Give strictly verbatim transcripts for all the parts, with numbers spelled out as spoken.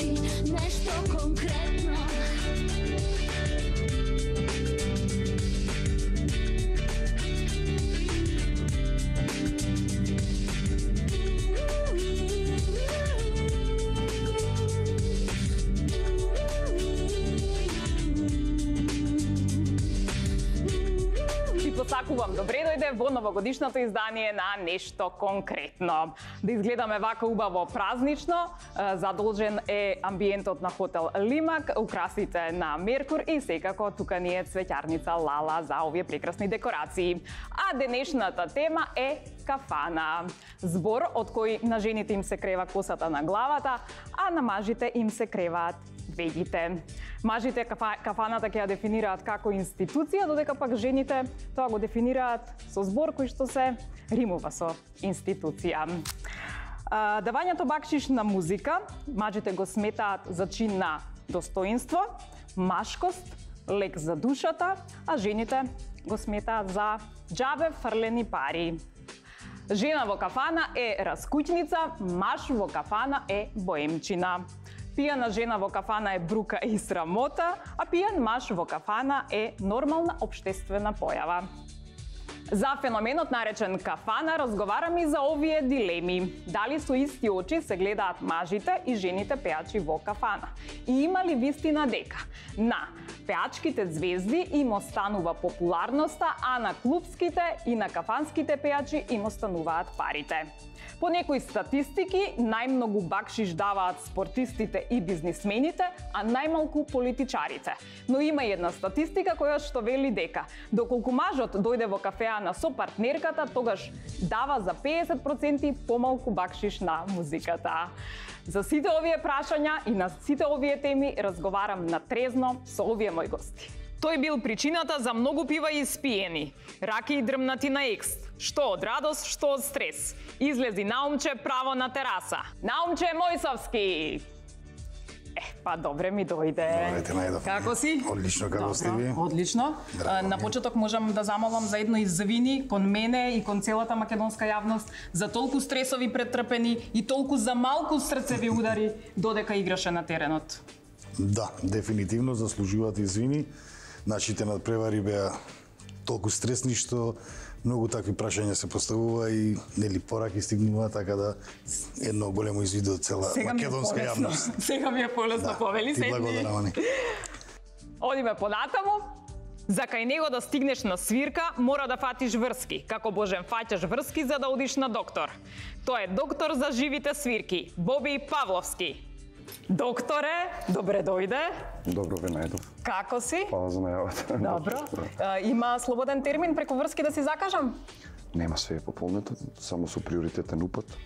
значи нешто конкретно. Посакувам добре дојде во новогодишното издание на Нешто конкретно. Да изгледаме вака убаво празнично, задолжен е амбиентот на хотел Лимак, украсите на Меркур и секако тука ни е цвеќарница Лала за овие прекрасни декорации. А денешната тема е кафана. Збор од кој на жените им се крева косата на главата, а на мажите им се креваат вегите. Мажите кафа, кафаната ќе ја дефинираат како институција, додека пак жените тоа го дефинираат со збор кој што се римува со институција. А, давањето бакшиш на музика, мажите го сметаат за чин на достоинство, машкост, лек за душата, а жените го сметаат за џабе фрлени пари. Жена во кафана е раскуќница, маж во кафана е боемчина. Пијана жена во кафана е брука и срамота, а пијан маж во кафана е нормална општествена појава. За феноменот наречен кафана разговараме и за овие дилеми. Дали со исти очи се гледаат мажите и жените пеачи во кафана? И има ли вистина дека на пеачките звезди им останува популарноста, а на клубските и на кафанските пеачи им остануваат парите? По некои статистики, најмногу бакшиш даваат спортистите и бизнисмените, а најмалку политичарите. Но има и една статистика која што вели дека доколку мажот дојде во кафеана со партнерката, тогаш дава за педесет проценти помалку бакшиш на музиката. За сите овие прашања и на сите овие теми разговарам на трезно со овие мои гости. Тој бил причината за многу пива испиени, раки и дрмнати на екст, што од радост, што од стрес. Излези Наумче право на тераса. Наумче Мојсовски! Е, па добре ми дојде. Добре, најдов. Како си? Одлично, како сте ви? Одлично. Драго На ми. почеток можам да замолам за едно извини кон мене и кон целата македонска јавност за толку стресови претрпени и толку за малку срцеви удари додека играше на теренот. Да, дефинитивно заслужуваат извини. Нашите надпревари беа толку стресни што многу такви прашања се поставува и нели пораки стигнува, така да едно големо извини од цела Сега македонска ми е полесно. јавност. Сега ми е полесно, Да, повели ти седни. благодарам, Ани. Одиме понатаму. За кај него да стигнеш на свирка, мора да фатиш врски. Како Божен фаќаш врски за да одиш на доктор. Тој е доктор за живите свирки, Боби Павловски. Докторе, добре дојде. Добро ве најдов. Како си? Фала за најавата. Добро. А, има слободен термин преку врски да си закажам? Нема, све е пополнето, само со приоритетен упат.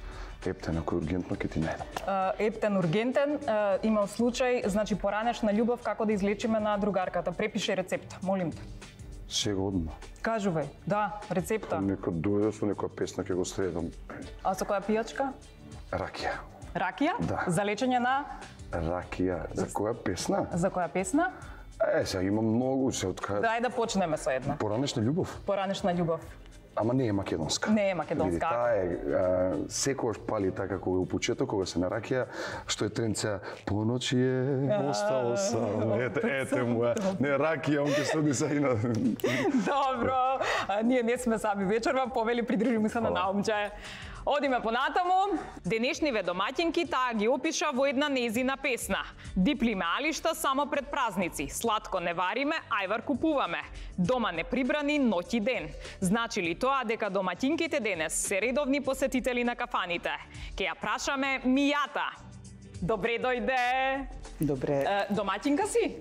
Ептен, ако е ургентно, ќе ти најдам. А, ептен, ургентен. А, имам случај, значи поранешна љубов, како да излечиме на другарката. Препиши рецепт, молим те. Сега одма. Кажувај, да, рецепта. Нека дојде со некоја песна, ќе го следам. А со која пијачка? Ракија. Ракија? Да. За лечење на... Ракија. За која песна? За која песна? Е, сега има многу, се од кај... Дај да почнеме со една. Поранешна љубов. Поранешна љубов. Ама не е македонска. Не е македонска. Види, таа е, а, секогаш пали така кога е у почеток, кога се на ракија, што е тренца поночи е остало сам. Ете, ете му е. Не ракија, он ќе следи са и на... Добро. А, ние не сме сами вечерва, повели придружиме се на Наумче. Одиме понатаму. Денешниве домаќинки таа ги опиша во една незина песна. Диплиме алишта само пред празници. Сладко не вариме, ајвар купуваме. Дома не прибрани ноќ и ден. Значи ли тоа дека домаќинките денес се редовни посетители на кафаните? Ке ја прашаме Мијата. Добре дојде. Добре. Е, домаќинка си?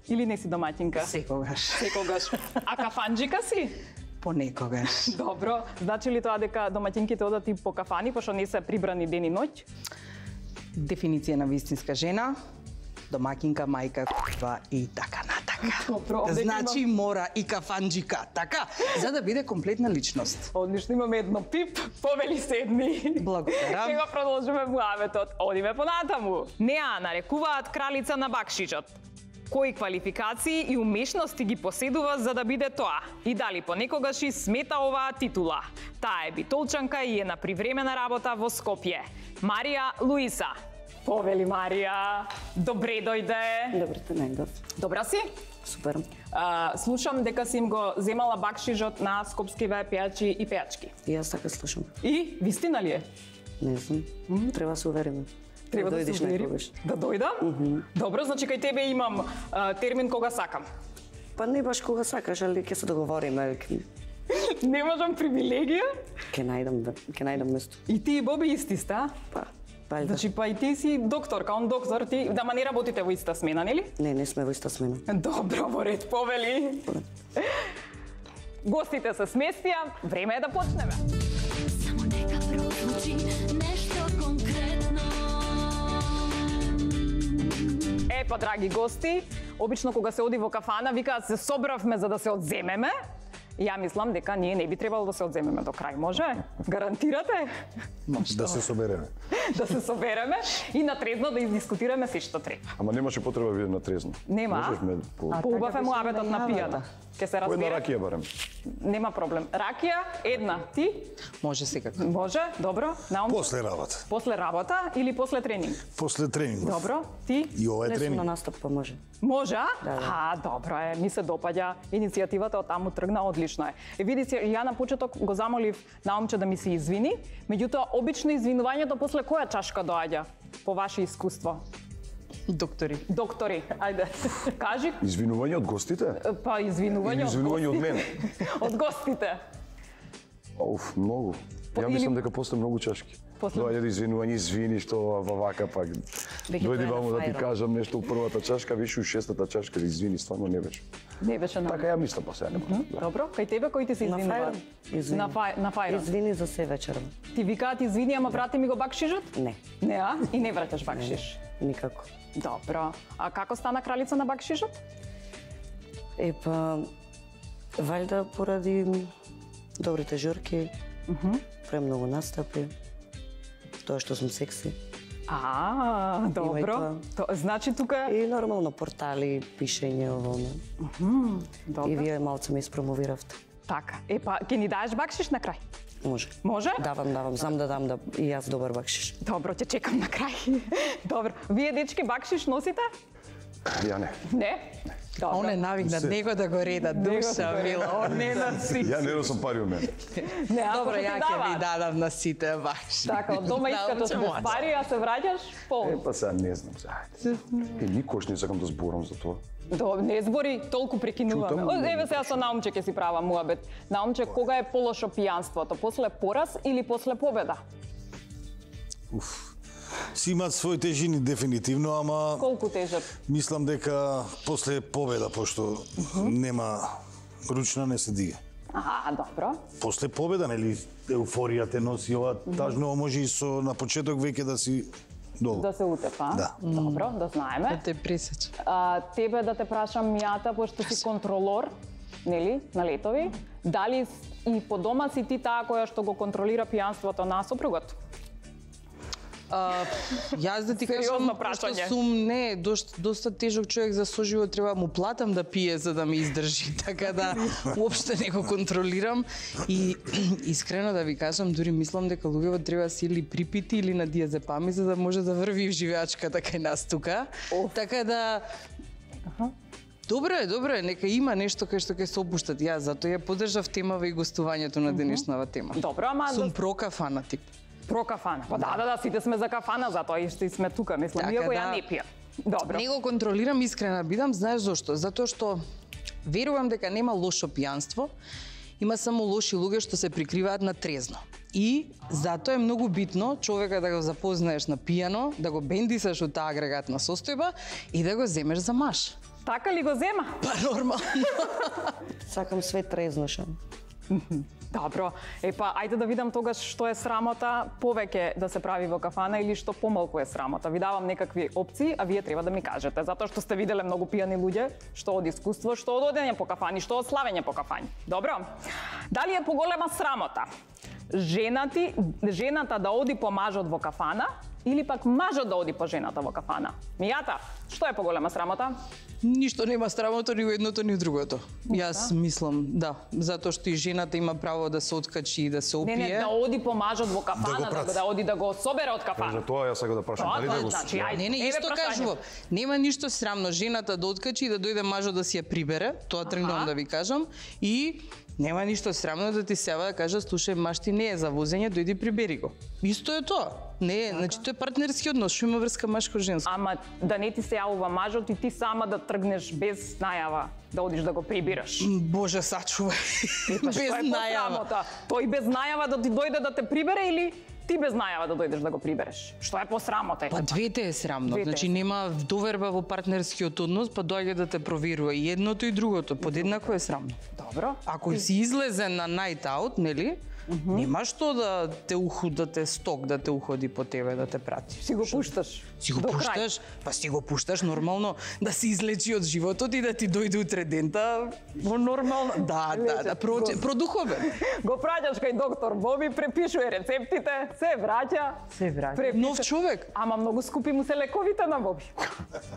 Или не си домаќинка? Секогаш. Секогаш. А кафанџика си? Понекогаш. Добро. Значи ли тоа дека домаќинките одат и по кафани, пошто не се прибрани ден и ноќ? Дефиниција на вистинска жена, домакинка, мајка, к***ва и така натака. Добро, овде Значи мора и кафанџика, така, за да биде комплетна личност. Одлично, имаме едно пип, повели седни. Благодарам. Сега продолжиме муаветот. Одиме понатаму. Неа нарекуваат кралица на бакшичот. Кои квалификации и умешности ги поседува за да биде тоа? И дали понекогаш и смета оваа титула? Таа е битолчанка и е на привремена работа во Скопје. Марија Луиса. Повели Марија, добре дојде. Добре те најдов. Добра си? Супер. А, слушам дека си им го земала бакшишот на скопскиве пејачи и пејачки. И јас така слушам. И вистина ли е? Не знам. Треба се увериме. Треба да, дојдеш се уверим. некогаш. Да дојдам? Mm -hmm. Добро, значи кај тебе имам а, термин кога сакам. Па не баш кога сакаш, али ќе се договориме. Не можам привилегија. Ќе најдам, да- ќе најдам место. И ти и Боби исти ста? Па, валјда. Значи па и ти си докторка, он доктор, ти дама не работите во иста смена, нели? Не, не сме во иста смена. Добро, во ред, повели. Гостите се сместија, време е да почнеме. Само нека прозвучи нешто конкретно. Е, па, драги гости, обично кога се оди во кафана, викаат се собравме за да се одземеме. Ја мислам дека ние не би требало да се одземеме до крај, може? Гарантирате? Да се собереме. Да се собереме и на трезно да издискутираме се што треба. Ама немаше потреба вие на трезно. Нема? Можеш ме по... Поубав е така муабетот беше на најавата. пијата. Ке се По една разбере. ракија барем. Нема проблем. Ракија, една, ти? Може секако. Може, добро. Наум. После работа. После работа или после тренинг? После тренинг. Добро. Ти? И ова е Не сум на тренинг. настап, па може. Може, а? Да, да. А, добро е. Ми се допаѓа иницијативата од таму тргна, одлично е. Е, види се, ја на почеток го замолив Наумче да ми се извини, меѓутоа обично извинувањето после која чашка доаѓа по ваше искуство? Доктори. Доктори, ајде. Кажи, Извинување од гостите? па извинување Или извинување од гостите. мене? Од гостите. Оф, многу. По- Ја или- мислам дека после многу чашки. После- Доаѓа да извинување, извини што ова вака пак. Веќе Дојди тоа е ваму на да ти фајрот. кажам нешто у првата чашка, више у шестата чашка, извини, стварно не беше. Не беше на. Така ја мислам, па сега нема. Да. Добро, кај тебе кој ти се На извинува? фајрот? Извини. На фај, на фајрот. Извини за се вечерва. Ти викаат извини, ама врати ми го бакшишот? Не, Не, а? И не враќаш бакшиш. никако. Добро. А како стана кралица на бакшишот? Е, па, валјда поради добрите журки, премногу настапи, тоа што сум секси. А, Има и добро. То, значи тука И нормално портали, пишење, ово, не. И добро. вие малце ме испромовиравте. Така. Е па ќе ни даеш бакшиш на крај? Може. Може? Давам, давам, знам да дам да и јас добар бакшиш. Добро, ќе чекам на крај. Добро. Вие дечки бакшиш носите? Ја не. Не. Добро. Он е навикнат него да го реда, душа мила, он не носи. Ја не носам пари од мене. Не, ако Добро, ти ја ќе ви даваат. дадам на сите баш. Така, од дома искате Научам без млад. пари, а се враќаш пол. Е, па сега не знам сега. Ајде. Е, никош не сакам да зборам за тоа. До, не збори, толку прекинуваме. Чутам, О, но еве не сега со Наумче ќе си права муабет. Наумче, кога е полошо пијанството? После пораз или после победа? Уф. Си имаат своји тежини дефинитивно, ама Колку тежат? мислам дека после победа, пошто нема ручна не се дига. А, добро. После победа, нели, еуфорија те носи ова, тажно може и со на почеток веќе да си долу. Да се утепа. Да. Добро, да Да знаеме. те пресече. А, тебе да те прашам мијата, пошто си контролор, нели, на летови, дали и по дома си ти таа која што го контролира пијанството на сопругот? А, јас да ти Сериозно кажам, прашање. што сум не, доста, доста тежок човек за соживот, треба му платам да пие за да ме издржи, така да уопште не го контролирам и искрено да ви кажам, дури мислам дека луѓето треба да си или припити или на диазепами за да може да врви живеачката кај нас тука. Така да Добро е, добро е, нека има нешто кај што ќе се опуштат. Јас затоа ја поддржав темава и гостувањето на денешнава тема. Добро, ама Сум да- про кафана тип. Про кафана. Па да, да, да, сите сме за кафана, затоа и што и сме тука, мислам, Така иако ја да. не пијам. Добро. Не го контролирам, искрена бидам, знаеш зошто? Затоа што верувам дека нема лошо пијанство, има само лоши луѓе што се прикриваат на трезно. И затоа е многу битно човека да го запознаеш на пијано, да го бендисаш од таа агрегатна состојба и да го земеш за маш. Така ли го зема? Па нормално. Сакам све трезно шо. Добро. Е па, ајде да видам тогаш што е срамота повеќе да се прави во кафана или што помалку е срамота. Ви давам некакви опции, а вие треба да ми кажете, затоа што сте виделе многу пијани луѓе, што од искуство, што од одење по кафани, што од славење по кафани. Добро. Дали е поголема срамота женати, жената да оди по мажот во кафана или пак мажот да оди по жената во кафана? Мијата, што е поголема срамота? Ништо нема срамота ни во едното ни во другото. Јас мислам, да, затоа што и жената има право да се откачи и да се опие. Не, не, да оди по мажот во Да кафана, го да, прати. да оди да го собере од За кафана. тоа јас сакам да прашам Тоа, дали да го значи, ајде. Не, не, Еве исто прашање. кажувам. Нема ништо срамно жената да откачи и да дојде мажот да си ја прибере, тоа тргнувам да ви кажам, и нема ништо срамно да ти сева да кажа, слушај, маш ти не е за возење, дојди прибери го. Исто е тоа. Не, е, значи тоа е партнерски однос, што има врска машко-женско. Ама да не ти се јавува мажот и ти сама да тргнеш без најава, да одиш да го прибираш. Боже, сачувај. Па што Без е најава. посрамота? Тој без најава да ти дојде да те прибере или ти без најава да дојдеш да го прибереш? Што е посрамота? Па двете е срамно. Двете е Значи нема доверба во партнерскиот однос, па доаѓа да те проверува и едното и другото, подеднакво е срамно. Добро. Ако си излезен на night out, нели? Нема што да те уху, да те сток, да те уходи по тебе, да те прати. Си го пушташ. Си го до крај. пушташ, па си го пушташ нормално да се излечи од животот и да ти дојде утре дента во нормално. Да, да, да, про, продуховен. Го праќаш кај доктор Боби, препишува рецептите, се враќа. Се враќа. Препиша. Нов човек. Ама многу скупи му се лековите на Боби.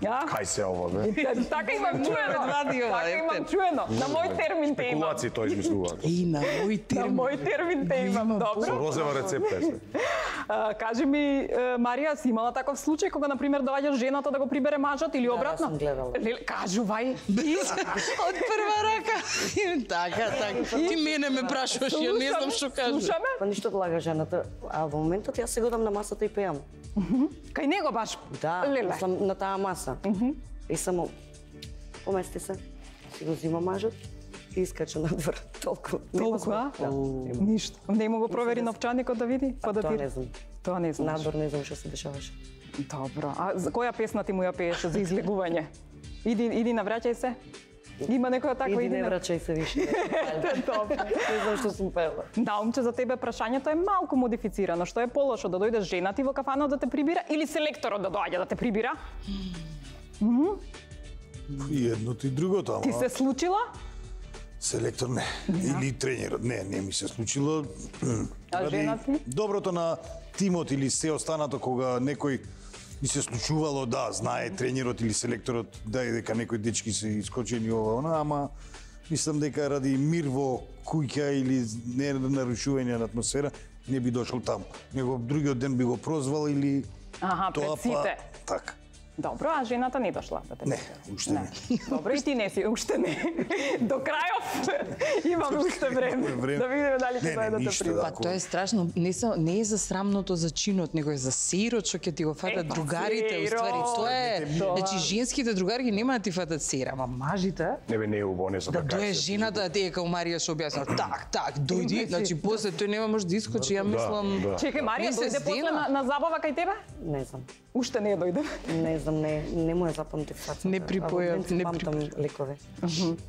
Ја? Кај се ова, бе? Така имам чуено. вади ова, Така имам ефте. чуено. На мој термин те имам. Спекулации тоа измислуваат. И на мој На термин. мој термин те имам. Со Добро. розева рецепта е се. А, кажи ми, е, Марија, си имала таков случај кога, на пример, доаѓа жената да го прибере мажот или обратно? сум гледала. Леле, кажувај. Од прва рака. Така, така. Ти мене ме прашуваш, ја не знам што кажам. Слушаме? Па ништо да лага жената, а во моментот јас се годам на масата и пеам. Кај него баш. Да, Леле. мислам на таа маса. И само помести се, си го зима мажот и искача надвор. Толку. Нема Толку, звук. а? Да, нема. Ништо. Не му го провери новчаникот да види? Па да Тоа ти... не знам. Тоа не знаеш. Надвор не знам што се дешаваше. Добро. А за која песна ти му ја пееше за излегување? Иди, иди навраќај се. Има некоја таква Иди не на- враќај се више. Добро. Не знам што сум пела. Да, момче, за тебе прашањето е малку модифицирано. Што е полошо, да дојде жена ти во кафанот да те прибира или селекторот да доаѓа да те прибира? И едното и другото, Ти ама се случила? селектор не. Или тренерот. Не, не ми се случило. А Ради жена ти? Доброто на тимот или се останато кога некој ми се случувало, да, знае тренерот или селекторот, да, дека некои дечки се искочени ова, она, ама мислам дека ради мир во куќа или не нарушување на атмосфера, не би дошол таму. Него другиот ден би го прозвал или Аха, пред тоа сите. па така. Добро, а жената не дошла да те Не, прибира? уште не. Добро, и ти не си, уште не. До крајов имаме уште време. Време. Да видиме дали ќе Не, не, дојде да те ништо, прибира. да. Па тоа е страшно, не, са, не е за срамното за чинот, него е за сеирот што ќе ти го фатат Е, па, другарите, уствари, сеирот. тоа е, Тоа. значи женските другари нема да ти фатат сеир, ама мажите, Не бе, не е убаво, не знам да како дое се- жената да ти е као Марија што објасна, так, так, дојди, значи после тој нема може да искочи, ја мислам. да. Чекај, Марија, Месец дојде после дена. на, на забава кај тебе? Не знам. Уште не дојде. Не знам, не, не му е запамтив фацата. Не припоја, А во ден не памтам лекове.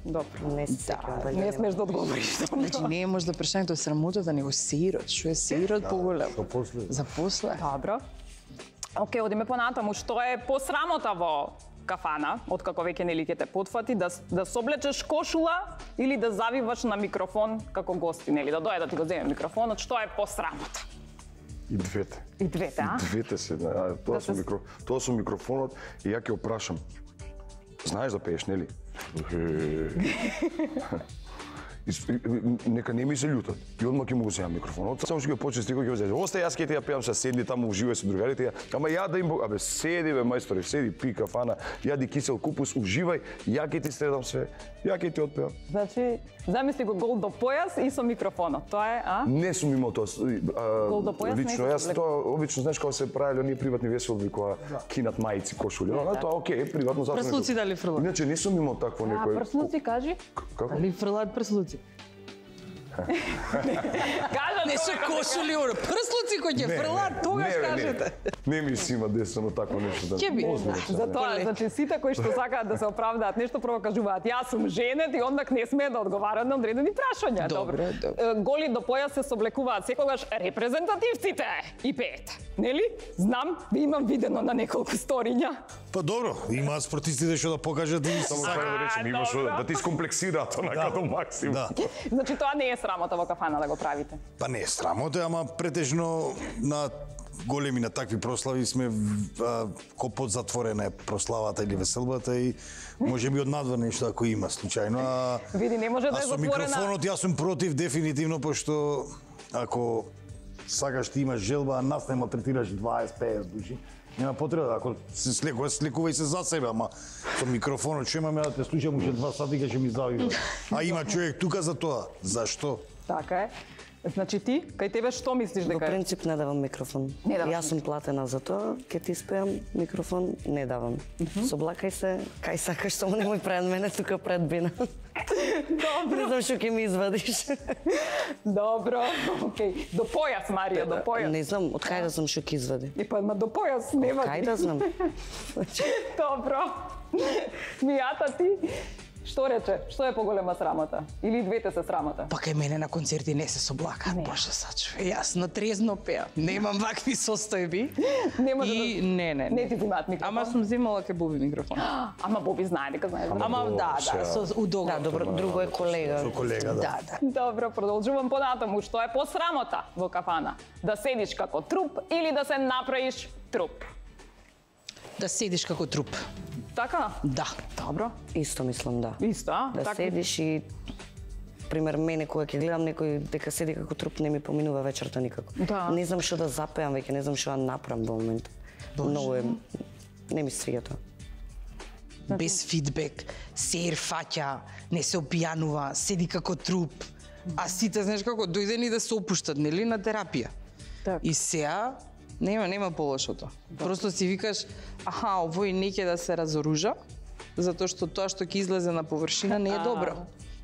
Добро. Не се сеќавам дали Не нема. смеш да одговориш. Значи не е може да прашањето е срамотата, него сеирот, што е сеирот поголем. Што после? За после. Добро. Океј, одиме понатаму. Што е посрамота во кафана, откако веќе нели ќе те потфати, да, да соблечеш кошула или да завиваш на микрофон како гости, нели, да дојде да ти го земе микрофонот, што е посрамота? И двете. И двете, а? Двете се, а, тоа Да со се- микро, тоа со микрофонот и ја ќе опрашам. Знаеш да пееш, нели? И с- и- и- нека не ми се љутат. И одма ќе му го земам микрофонот. Само што ќе почне стиго ќе го земам. Остај, јас ќе ти ја пеам, се седни таму уживај со другарите. Ја, ама ја да им бо- абе седи бе мајсторе, седи, пи кафана, јади кисел купус, уживај, ја ќе ти следам све. Ја ќе ти отпеам. Значи, замисли го гол до појас и со микрофонот. Тоа е, а? Не сум имал тоа. а, Гол до појас не лично си јас облекол. тоа обично знаеш кога се правеле оние приватни веселби кога кинат мајци, кошули. А тоа окей, приватно затоа. Прслуци некој- дали фрлат? Иначе не сум имал такво А, некој. прслуци, кажи. Како? Али фрлаат прслуци? Кажа Не се човекот, кошули, оро, прслуци кој ќе фрлаат, тогаш Не, бе, кажете. Не, не ми се има десено такво нешто. Да. Ќе би. Озбилно се, За не. тоа, значи сите кои што сакаат да се оправдаат нешто прво кажуваат јас сум женет и ондак не смеат да одговараат на одредени прашања. Добро, добро. Е, Голи до појас се соблекуваат секогаш репрезентативците и пеете. Нели? Знам, ви имам видено на неколку сториња. Па добро, имаат спортистите што да покажат и Само сакаат. треба да речем, има што добро. да ти скомплексираат онака до максимум. Да. Значи тоа не е срамота во кафана да го правите. Па не е срамота, ама претежно на големи на такви прослави сме а, ко под затворена е прославата или веселбата и може би однадвор нешто ако има случајно. А, Види, не може да а е со затворена. микрофонот јас сум против дефинитивно, пошто ако сакаш ти имаш желба, а нас не малтретираш дваесет пеесет души, нема потреба, ако се слекуваш, слекувај се за себе, ама со микрофонот што имаме да те слушам уште два сати ќе ми завива. А има човек тука за тоа. Зашто? Така е. Значи ти, кај тебе што мислиш Во дека е? принцип не давам микрофон. Не даваш Јас сум платена за тоа, ќе ти спеам микрофон, не давам. Соблакај се, кај сакаш, само немој пред мене, тука пред бина. Добро. Не знам што ќе ми извадиш. Добро. Океј. До појас, Марија, до појас. Не знам, од кај да знам што ќе извади. И па, ма до појас нема. Кај да знам? Добро. Мијата ти, што рече? Што е поголема срамота? Или двете се срамота? Па кај мене на концерти не се соблакаат, боже сачуве. Јас на трезно пеам. Немам вакви состојби. Не може И да... не, не, Не ти взимаат микрофон. Ама сум земала кај Боби микрофон. Ама Боби знае дека знае. Ама да, да, со у договор. Да, добро, друго е колега. Со колега, да. Да, да. Добро, продолжувам понатаму. Што е посрамота во кафана? Да седиш како труп или да се направиш труп? Да седиш како труп. Така? Да. Добро. Исто мислам, да. Исто, а? Да Така- седиш и пример мене кога ќе гледам некој дека седи како труп не ми поминува вечерта никако. Да. Не знам што да запеам веќе, не знам што да направам во момент. Многу е не ми свиѓа тоа. Без фидбек, сер фаќа, не се опијанува, седи како труп. А сите, знаеш како, дојдени да се опуштат, нели, на терапија. Така. И сеа, нема, нема полошото. Просто си викаш, аха, овој не ќе да се разоружа, затоа што тоа што ќе излезе на површина не е добро.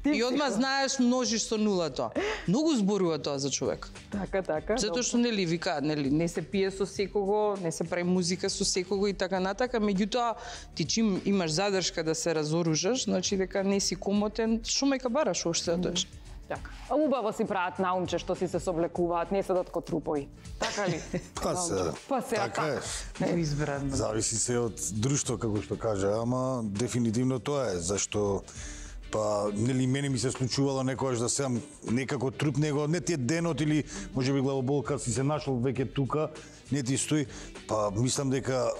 ти И одма знаеш, множиш со нула тоа. Многу зборува тоа за човек. Така, така. Затоа што нели викаат, нели, не се пие со секого, не се прави музика со секого и така натака, меѓутоа ти чим имаш задршка да се разоружаш, значи дека не си комотен, што мајка бараш уште да доеш. Така. А убаво си прават наумче што си се соблекуваат, не седат ко трупови. Така ли? Па се, Па се, така е. Не избран. Зависи се од друштво, како што кажа, ама дефинитивно тоа е, зашто па нели мене ми се случувало некогаш да сеам некако труп, него не ти е денот или можеби главоболка си се нашол веќе тука, не ти стои, па мислам дека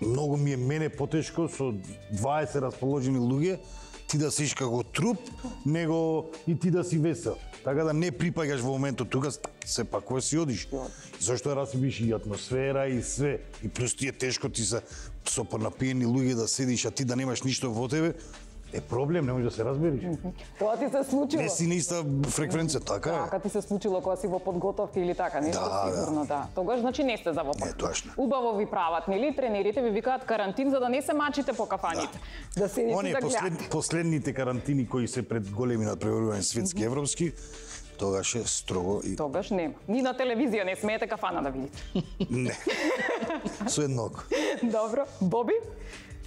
многу ми е мене потешко со дваесет расположени луѓе ти да сиш како труп, него и ти да си весел. Така да не припаѓаш во моментот тука, се пак кога си одиш. Зашто расибиш и атмосфера и све. И плюс ти е тешко ти се со понапиени луѓе да седиш, а ти да немаш ништо во тебе, е проблем, не можеш да се разбериш. Тоа ти се случило. Не си на иста фреквенција, така е. Така ти се случило кога си во подготовка или така, нешто Да, сигурно, да. Тогаш значи не сте за во Не, точно. Убаво ви прават, нели? Тренерите ви викаат карантин за да не се мачите по кафаните. Да, да седите Оние да послед, гледате. последните карантини кои се пред големи надпреварувања светски европски, тогаш е строго и Тогаш нема. Ни на телевизија не смеете кафана да видите. не. Со едног. Добро. Боби?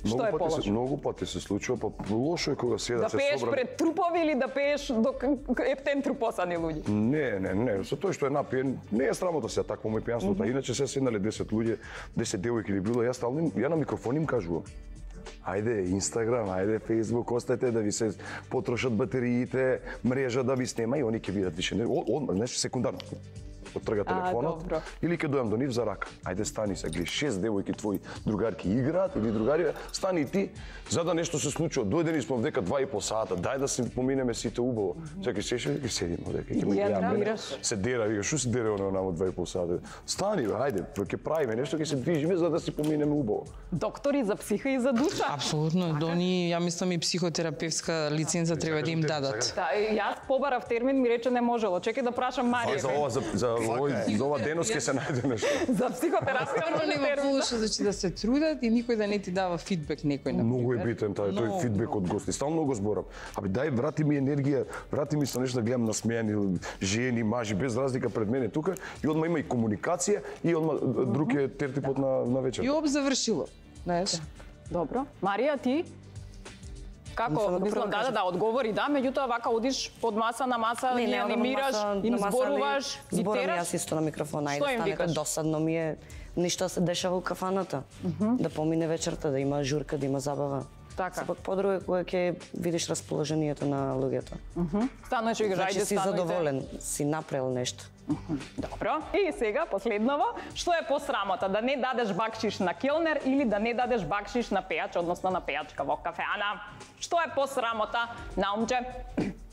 Што Многу е пати полошо? се, многу пати се случува, па лошо е кога седат Да се пееш собрани. пред трупови или да пееш до ептен трупосани луѓе? Не, не, не, со тоа што е напиен, не е срамота се такво мој пијанството, иначе се седнале десет луѓе, десет девојки или било, јас стално им- ја на микрофон им кажувам. Ајде, Инстаграм, ајде, Фејсбук, остајте да ви се потрошат батериите, мрежа да ви снема и они ќе видат више. Не, од, од, знаеш, секундарно. Оттрга телефонот добро. или ќе дојам до нив за рака. Ајде стани се, гледа, шест девојки твои другарки играат или другари, стани и ти, за да нешто се случува. Дојдени сме дека два и по сата, дај да се поминеме сите убаво. Сега ќе сеше, ќе седиме дека ќе ме Ја гледаме. травираш. Се дера, вика, што се дере оно намо два и по сата? Стани, бе, ајде, ќе правиме нешто, ќе се движиме за да си поминеме убаво. Доктори за психа и за душа. Апсолутно, до ни, ја мислам и психотерапевска лиценца треба да им дадат. Да, и јас побарав термин, ми рече не можело. Чекај да прашам А за Марија. ова за за овој за ова денос ќе се најде нешто. За психотерапија Прво нема термин. полошо, значи да се трудат и никој да не ти дава фидбек некој на Многу е битен тај тој Многу, фидбек од гости. Стално го зборам. Абе дај врати ми енергија, врати ми со нешто да гледам насмејани жени, мажи без разлика пред мене тука и одма има и комуникација и одма друг е тертипот на на вечер. И об завршило. Знаеш? Добро. Марија, ти? Како, Мислам да мислам, прво да, да, кажам. да, одговори, да, меѓутоа вака одиш од маса на маса, Не, ги не, одам на анимираш, маса, им на маса, зборуваш, не, ги зборам тераш. јас исто на микрофон, Што ајде им станете, викаш? досадно ми е ништо се дешава у кафаната. Да помине вечерта, да има журка, да има забава. Така. Сепак подруга е кога ќе видиш расположението на луѓето. Стануваш и кажа, Значи ајде си станујте. задоволен, си направил нешто. Добро. И сега последново, што е посрамота, да не дадеш бакшиш на келнер или да не дадеш бакшиш на пејач, односно на пејачка во кафеана? Што е посрамота, Наумче?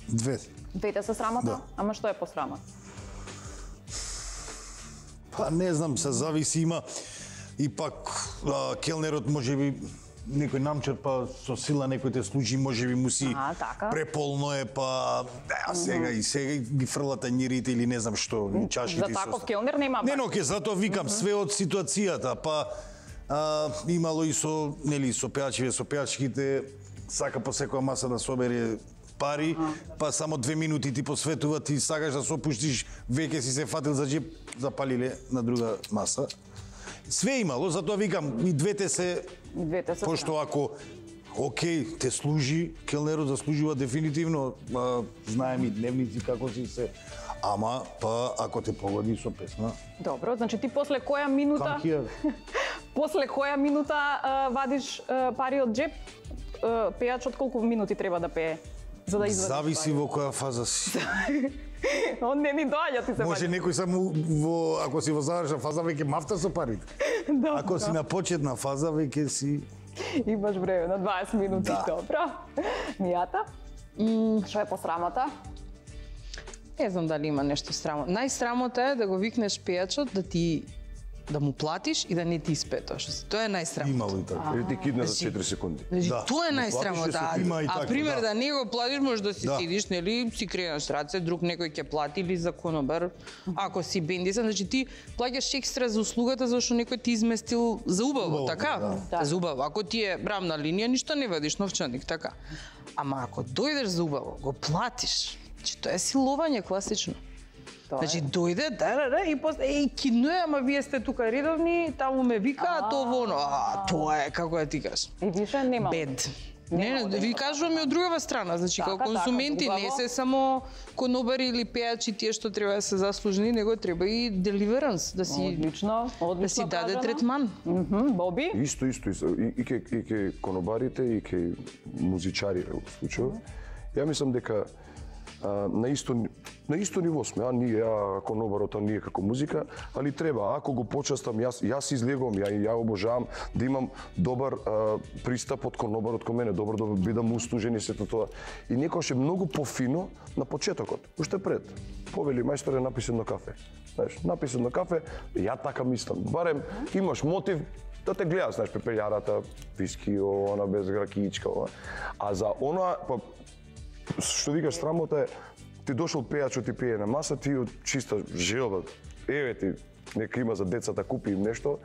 Две. Двете се срамота? Да. Ама што е посрамота? Па не знам, се зависи, има и пак а, келнерот можеби некој намчер, па со сила некој те служи, можеби му си А, така. преполно е, па а сега и сега ги фрла тањирите или не знам што, и чашите За и таков со- келнер нема Не, бакшиш. но ке затоа викам све од ситуацијата, па а, имало и со, нели, со пејачите, со пејачките, сака по секоја маса да собере пари, па само две минути ти посветува, ти сакаш да се опуштиш, веќе си се фатил за джеп, запалиле на друга маса. Све имало, затоа викам, и двете се, Двете се пошто ако окей, те служи, келнерот заслужува дефинитивно, а, знаем и дневници како си се, ама, па, ако те погоди со песна, Добро, значи ти после која минута, come here. после која минута а, вадиш а, пари од джеп, а, пејачот колку минути треба да пее за да извадиш Зависи пари? во која фаза си. Он не ни доаѓа, ти се Може ваѓа. некој само во, ако си во завршна фаза, веќе мафта со парите. Да, Ако си на почетна фаза, веќе си... имаш време на дваесет минути, Да. добро. Мијата? Што е посрамота? Не знам дали има нешто срамота. Најсрамота е да го викнеш пејачот да ти да му платиш и да не ти испее тоа што си. Тоа е најсрамота. Имало и така. Или ти кидна за четири секунди. Значи, Да. тоа е платиш најсрамота. ли си ти? Има и А така, пример да. да не го платиш, може да си Да. седиш, нели, си кренеш раце, друг некој ќе плати или за конобар. Ако си бендисан, значи ти плаќаш екстра за услугата зашто некој ти изместил за убаво, Убаво, така? да. За убаво. Ако ти е брамна линија, ништо не вадиш новчаник, така. Ама ако дојдеш за убаво, го платиш. Значи тоа е силување класично. Тоа Значи е. дојде, да, да, да, и после еј кинуе, ама вие сте тука редовни, таму ме вика, а тоа воно. А тоа е како да ти кажам. И више нема. Бед. Не, Нема не, да ви има кажувам и од другава страна, значи Така, како така, консументи не убаво. се само конобари или пејачи тие што треба да се заслужени, него треба и деливеранс, да си Одлично, одлично да си даде кажано. третман. Мгм, Боби? Исто, исто, исто. И, и, ке, и ке конобарите, и ке музичарите во случајот. Ја мислам дека а, на исто на исто ниво сме, а ние а конобарот, а ние како музика, али треба, ако го почастам, јас јас излегувам, ја ја обожавам да имам добар а, пристап од конобарот кон мене, добар да бидам устужен и сето тоа. И некојаш е многу пофино на почетокот, уште пред. Повели мајсторе, написи едно кафе. Знаеш, написи едно кафе, ја така мислам. Барем имаш мотив да те гледаш, знаеш, пепелјарата, виски, она без ракиичка, ова. А за она, па, што викаш, срамота е, ти дошол пејачот ти пие на маса, ти од чиста желба, еве ти, нека има за децата, купи им нешто,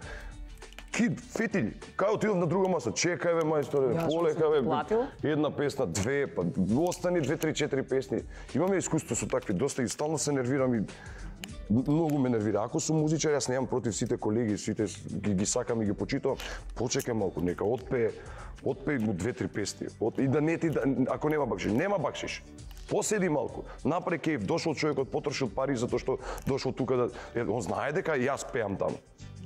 кид, фетили, кај отидам на друга маса, чекај бе мајсторе, Јас полека сум бе, платил. една песна, две, па остани две, три, четири песни. Имаме искуство со такви, доста и стално се нервирам и многу ме нервира. Ако сум музичар, јас немам против сите колеги, сите ги, ги сакам и ги почитувам, почекај малку, нека отпее, отпее му две, три песни. От, и да не ти, да, ако нема бакшиш, нема бакшиш. Поседи малку, направи кејф, дошол човекот, потрошил пари затоа што дошол тука да... Е, он знае дека јас пеам таму.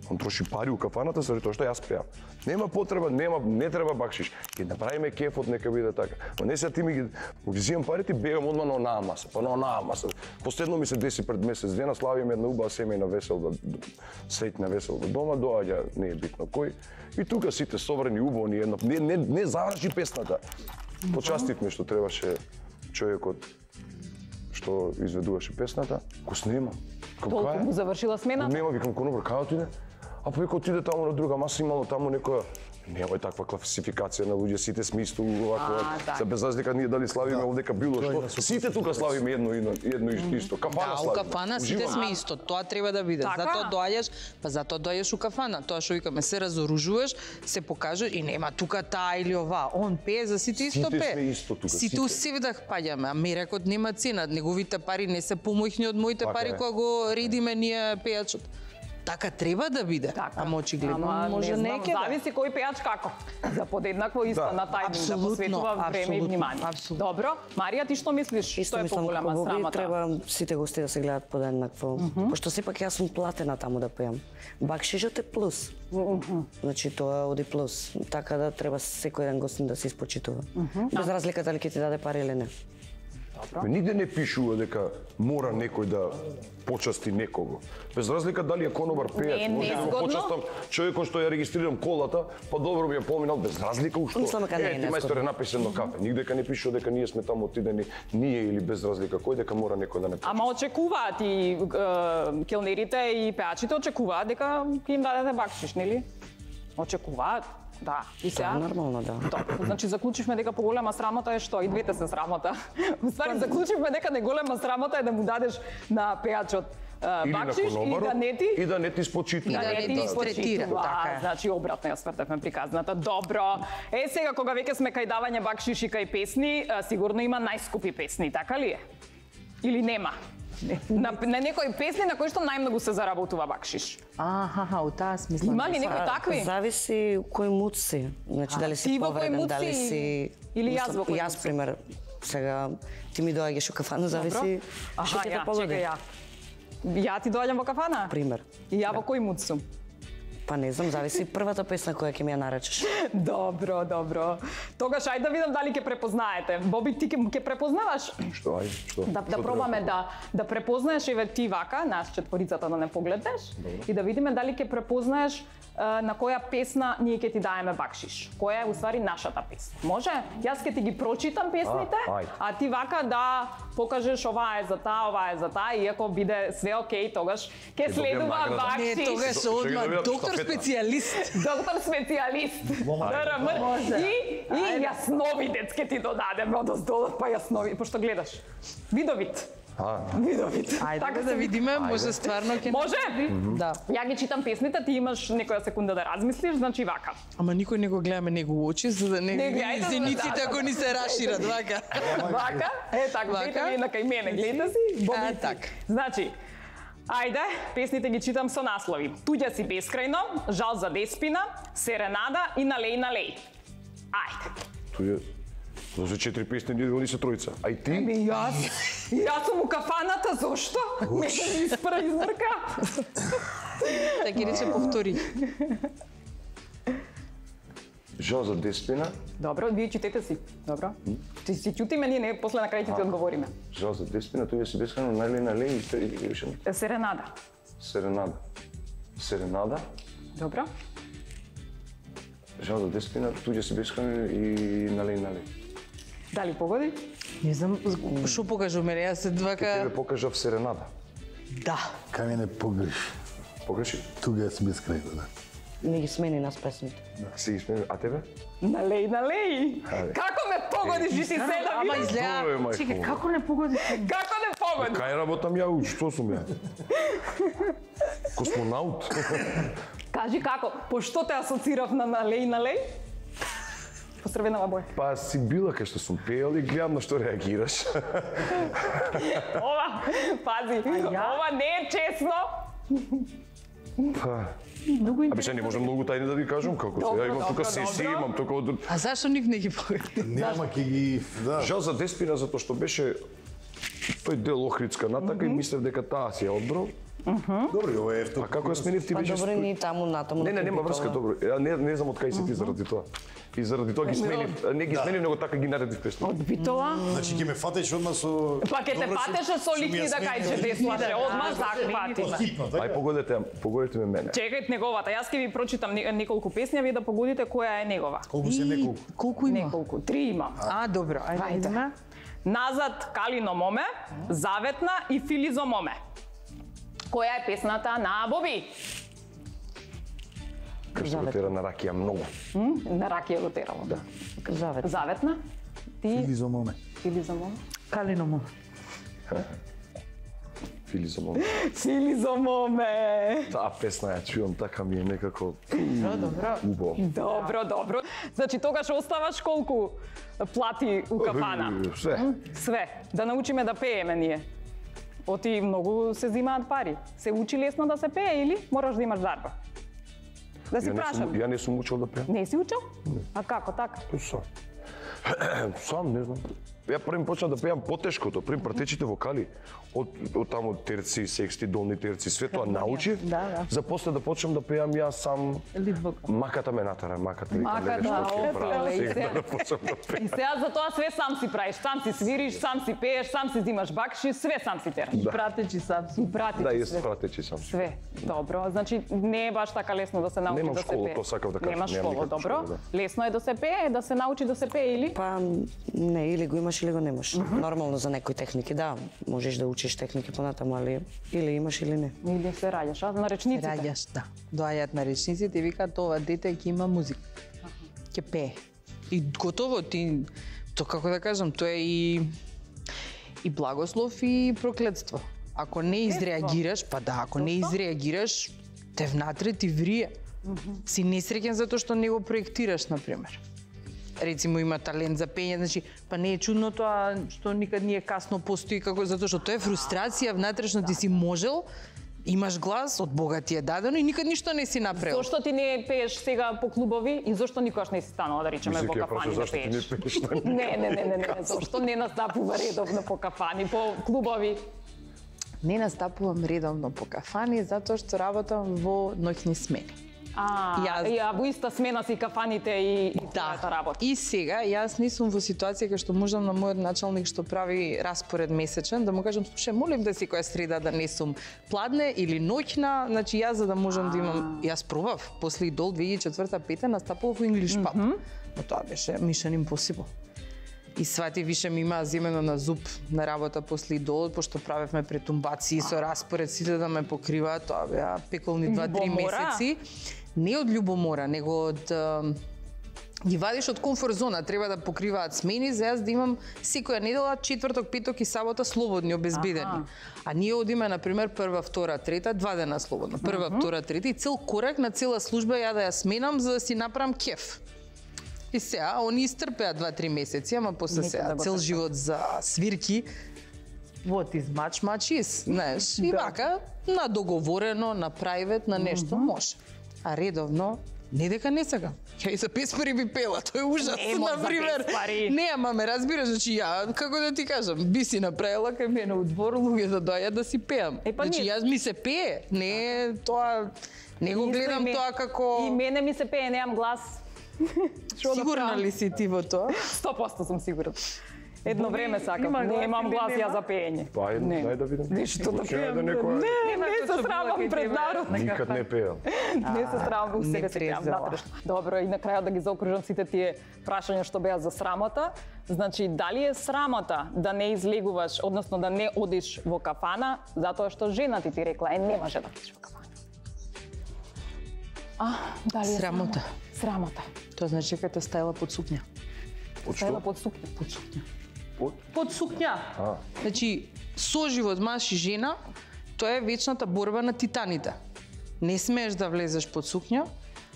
Он троши пари у кафаната заради тоа што јас пеам. Нема потреба, нема, не треба бакшиш. Ќе направиме кефот, нека биде така. Но не се ти ми ги, ги зимам парите, бегам одма на онаа маса, па на онаа маса. Последно ми се деси пред месец дена, славиме една убава семејна веселба, среќна веселба дома, доаѓа, не е битно кој. И тука сите собрани убаво ни една, не, не, не заврши песната. Почастивме што требаше човекот што изведуваше песната, го снема. Толку му завршила смена? Нема, викам, конобар, кај отиде? А па вика, отиде таму на друга маса, имало таму некоја... Нема таква класификација на луѓе, сите сме исто овако. А, така. За без разлика ние дали славиме овдека било што. Сите тука славиме едно едно, едно исто, исто. Кафана Да, у славиме. кафана сите Уживаме. сме исто, тоа треба да биде. Така? Затоа доаѓаш, па затоа доаѓаш у кафана. Тоа што викаме, се разоружуваш, се покажеш и нема тука таа или ова. Он пее за сите исто Сите пее. сме исто тука, Сите у сите. севдах паѓаме, а мерекот нема цена. Неговите пари не се помојни од моите Така пари е. кога го редиме ние пејачот. така треба да биде. Така. Ама очигледно Ама, може не не знам, ќе да. зависи кој пејач како. За подеднакво исто Да. на тајминг да Апсолутно, посветува време и апсолутно, внимание. апсолутно. Добро, Марија, ти што мислиш? Исто Што е мислам поголема како Боби, срамота? треба сите гости да се гледат подеднакво. Пошто сепак јас сум платена таму да пеам. Бакшишот е плюс. Значи тоа оди плюс. Така да треба секој еден гостин да се испочитува. Без разлика дали ќе ти даде пари или не. Ме нигде не пишува дека мора некој да почасти некого. Без разлика дали е конобар пејач, Не е може да го незгодно. почастам човекот што ја регистрирам колата, па добро ми ја поминал без разлика ушто. Мислам дека не е Е, ти незгодно. мајсторе напиши едно кафе. Нигде дека не пишува дека ние сме таму отидени, ние или без разлика кој дека мора некој да не почасти. Ама очекуваат и е, келнерите и пеачите очекуваат дека ќе им дадете бакшиш, нели? Очекуваат. Да, и сега. Тоа е нормално, да. Добро, значи заклучивме дека поголема срамота е што? И двете се срамота. Уствари заклучивме дека најголема срамота е да му дадеш на пеачот е, Или на бакшиш и конобарот, да не ти и да не ти спочитува. И да не ти испочитува. третира, така е. Значи обратно ја свртевме приказната. Добро. Е сега кога веќе сме кај давање бакшиш и кај песни, е, сигурно има најскупи песни, така ли е? Или нема? Не. На, на некои песни на кои што најмногу се заработува бакшиш. Аха, у таа смисла. Има ли некои такви? Зависи кој муд си. Значи дали ти си во кој повреден, муд дали си? си Или јас во кој муд Јас си? пример сега ти ми доаѓаш у кафана, зависи што Аха, ќе те ја, погоди. чекај ја. Ја ти доаѓам во кафана? Пример. И ја во кој муд сум? Па не знам, зависи првата песна која ќе ми ја наречеш. Добро, добро. Тогаш ајде да видам дали ќе препознаете. Боби, ти ќе ќе препознаваш? Што, ај, што? Да, да Што пробаме треба? да да препознаеш еве ти вака, нас четворицата да не погледнеш и да видиме дали ќе препознаеш е, на која песна ние ќе ти даеме бакшиш. Која е уствари нашата песна. Може? Јас ќе ти ги прочитам песните, А, ајде. а ти вака да покажеш ова е за таа, ова е за таа и ако биде све окей, тогаш ќе добијам следува награда. бакшиш. Не, тогаш Ще одма ги добијам доктор штафета. специјалист. Доктор специјалист. ДРМ. И, и јасновидец ќе ти додадеме од оздолот, па јаснови, пошто гледаш. Видовит. А, Видовит. Ајде Така да се видиме, може стварно ќе... Може? Да. Ја ги читам песните, ти имаш некоја секунда да размислиш, значи вака. Ама никој не го гледаме него у очи, за да не Не види гледајте, зениците да. ако ни се рашират, вака. Вака, е така, Вака. видите ви на кај мене, гледате си, Боби А, ти. така. Значи, ајде, песните ги читам со наслови. Туѓа си бескрајно, Жал за деспина, Серенада и Налеј, налеј. Ајде. тој е... За четири песни ние они се тројца. А и ти? Ми јас, јас сум у кафаната, зошто? Мене ми испра измрка. Така ќе рече повтори. Жал за деспина, Добро, вие читете си. Добро. Ти си ќутиме, ние не, после на крај ќе ти одговориме. жал за деспина, тој си бескрајно најле нале и те- и више Серенада. серенада. Серенада, Добро. жал за деспина, туѓе си бескрајно и нале нале. Дали погоди? Не знам, што покажу мене, јас се Тебе двака... покажав серенада. Да. Кај мене погреш. Погреши? Туга си безкрајно, да. Не ги смени нас песните. Си ги смеја, а тебе? Налеј, налеј. Ајде. Како ме погодиш и ти се да Ама видиш? Добро е, изгледа... мајко. Чекај, како не погоди? Како не погоди? Кај работам ја, уч, што сум ја? Космонаут? Кажи како, пошто те асоцирав на налеј, налеј? Посрвенава боја. Па си била кај што сум пеел и гледам на што реагираш. Ова, пази, ова не е честно. Па, а беше не можам многу тајни да ви кажам како се. Добро, Ја имам тука добро, сесии, добро. имам тука од... А зашо ник не ги погоди? Нема ќе ги... Да. Жал за деспина затоа што беше тој дел Охридска натака и мислев дека таа си ја одбрал. Добро, ова е А како ја сменив ти Па беше... добро, спо- ни таму натаму. Не, не, на нема Купитова. врска, добро. Ја не, не знам од кај си ти заради тоа. И заради тоа ги сменив, не ги сменив, него така ги наредив песни. Од Битола. Значи ќе ме фатеш одма со... Па ке те Добро, патеше со што ми ја ликни да смени, кајче да, деслаше, одма захватиме. Хитно, Ај така? погодете, погодете ме мене. Чекајте неговата, јас ќе ви прочитам не- неколку песни, а вие да погодите која е негова. Колку се неколку? Колку има? Неколку, три имам. А, добро, ајде Ајде. видиме. Назад Калино моме, Заветна и Филизо моме. Која е песната на Боби? Кршто го тера на ракија многу. М? На Ракија го терало. Да. Завет. Заветна? Ти? Или за моме. Филизо моме? Калино му. Фили за моме. Филизо моме. Таа песна ја чувам, така ми е некако Добро, добро. убаво. Добро, добро. Значи тогаш оставаш колку плати у кафана? Све. Све. Да научиме да пееме ние. Оти многу се зимаат пари. Се учи лесно да се пее или мораш да имаш дарба? Да си Ја не прашам. сум, ја не сум учел да пеам. Не си учел? А како така? Тој сам. Сам, не знам. Ја првим почнав да пеам потешкото, првим пратечите вокали, од, од таму терци, сексти, долни терци, све тоа научив, Да, да. за после да почнам да пеам јас сам. Лид вокал. Маката ме натера, маката викам, Маката, леле, што ќе опа, правам, леле, и сега се- да почнам да И пеам. сега за тоа све сам си правиш, сам си свириш, сам си пееш, сам си зимаш бакши, све сам си тераш. Пратечи сам си. И пратиш Да, и све. пратечи сам. Све, добро. Значи не е баш така лесно да се научи Немам да се школа, пее. тоа сакав да кажам, Немаш немам школа, никаква добро. школа, Лесно е да се пее, да се научи да се пее или? Па не, или го имаш или го немаш. Нормално за некои техники, да, можеш да учиш техники понатаму, али или имаш или не. Или се раѓаш, а на речниците? Раѓаш, да. Доаѓаат на речниците и викаат ова дете ќе има музика. Ќе пее. И готово ти, то како да кажам, тоа е и и благослов и проклетство. Ако не изреагираш, па да, ако не изреагираш, те внатре ти врие. Си несреќен затоа што не го проектираш, на пример. Рецимо има талент за пење, значи па не е чудно тоа што никад не е касно постои како затоа што тоа е фрустрација внатрешно, ти си можел, имаш глас, од Бога ти е дадено и никад ништо не си направил. Зошто ти не пееш сега по клубови и зошто никош не си станала да речеме Мислех во ќе кафани прашаш да зашто ти не пееш? пееш на Не, не, не, не, не, зошто не настапува редовно по кафани, по клубови? Не настапувам редовно по кафани затоа што работам во ноќни смени. А, Јас- ја во иста смена си кафаните и, и твојата работа. И сега јас не сум во ситуација кај што можам на мојот началник што прави распоред месечен да му кажам слушај, молим да секоја среда да не сум пладне или ноќна, значи јас за да можам да имам, јас пробав после Идол две илјади и четврта пета настапував во English Pub. Но тоа беше Mission Impossible. И свати више ми имаа земено на зуб на работа после Идол, пошто правевме претумбации со распоред сите да ме покриваат, тоа беа пеколни два-три Љубомора? месеци. Не од љубомора, него од а, ги вадиш од комфорт зона, треба да покриваат смени за јас да имам секоја недела, четврток, петок и сабота слободни, обезбедени. Аха. А ние одиме на пример прва, втора, трета, два дена слободно. Прва, втора, трета и цел корак на цела служба ја да ја сменам за да си направам кеф. И сега, они истрпеа два-три месеци, ама после Нека сега да го цел трпат. живот за свирки. What is much, much is, знаеш. И Да. вака, на договорено, на прайвет, на нешто може. А редовно, не дека не сакам. Ја и за песмари би пела, тоа е ужас, Нема за на пример. песмари. Не, ама ме разбираш, значи ја, како да ти кажам, би си направила кај мене у двор луѓе да доаѓаат да си пеам. Е, па значи ние- јас ми се пее, не е тоа, не го Исто и гледам ме- тоа како... И мене ми се пее, немам глас. Што да Сигурна правам? ли си ти во тоа? сто проценти сум сигурна. Едно време сакам, има глас немам или глас ја нема? за пеење. Па, ајде, Не. дај да видам. Ништо да Почнеме пеам. да некоја- Не, не се срамам пред народ. Никад не пеел. Не се срамам, у не себе си пеам презела. натрешно. Добро, и на крајот да ги заокружам сите тие прашања што беа за срамота. Значи, дали е срамота да не излегуваш, односно да не одиш во кафана, затоа што жена ти ти рекла, е, не може да одиш во кафана? А, дали е Срамота. Срамота. Тоа значи дека те стајла под сукња. Од Стајла што? под сукња. Под сукња. Од? Под сукња. А. Значи, соживот маж и жена, тоа е вечната борба на титаните. Не смееш да влезеш под сукња,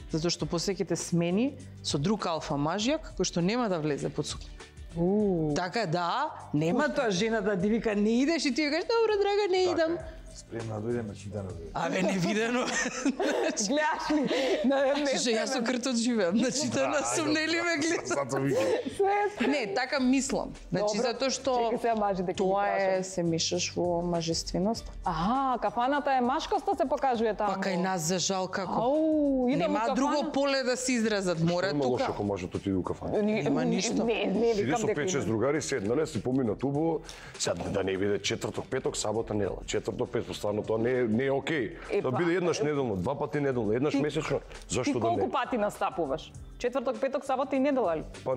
затоа што после ќе те смени со друг алфа мажјак кој што нема да влезе под сукња. У. Така да, нема тоа жена да ти вика не идеш и ти викаш добро драга не идам. Спремна да дојде на читано. Абе невидено. Гледаш ли? Не, не, Слушај, јас со кртот живеам, значи тоа на сум не ли ме гледа. Зато викам. Не, така мислам. Значи Добро. затоа што Чекај сега мажите ќе ги тоа е прашам. се мешаш во мажественост. Аха, кафаната е машкоста се покажува таму. Па кај нас за жал како. Ау, идам Нема у кафана. друго поле да се изразат, мора Има лошо тука. ако може да отиде у кафана. Ни- Нема ни- ништо. Не, не, Иде викам со дека пет-шест има. другари, седнале, си поминат убаво, сега да не биде четврток, петок, сабота, недела. Четврток, петок, стварно тоа не е, не е окей. Е, Да па, биде еднаш неделно, два пати неделно, еднаш месечно, Ти зашто да колку не? пати настапуваш? Четврток, петок, сабота и недела ли? Па,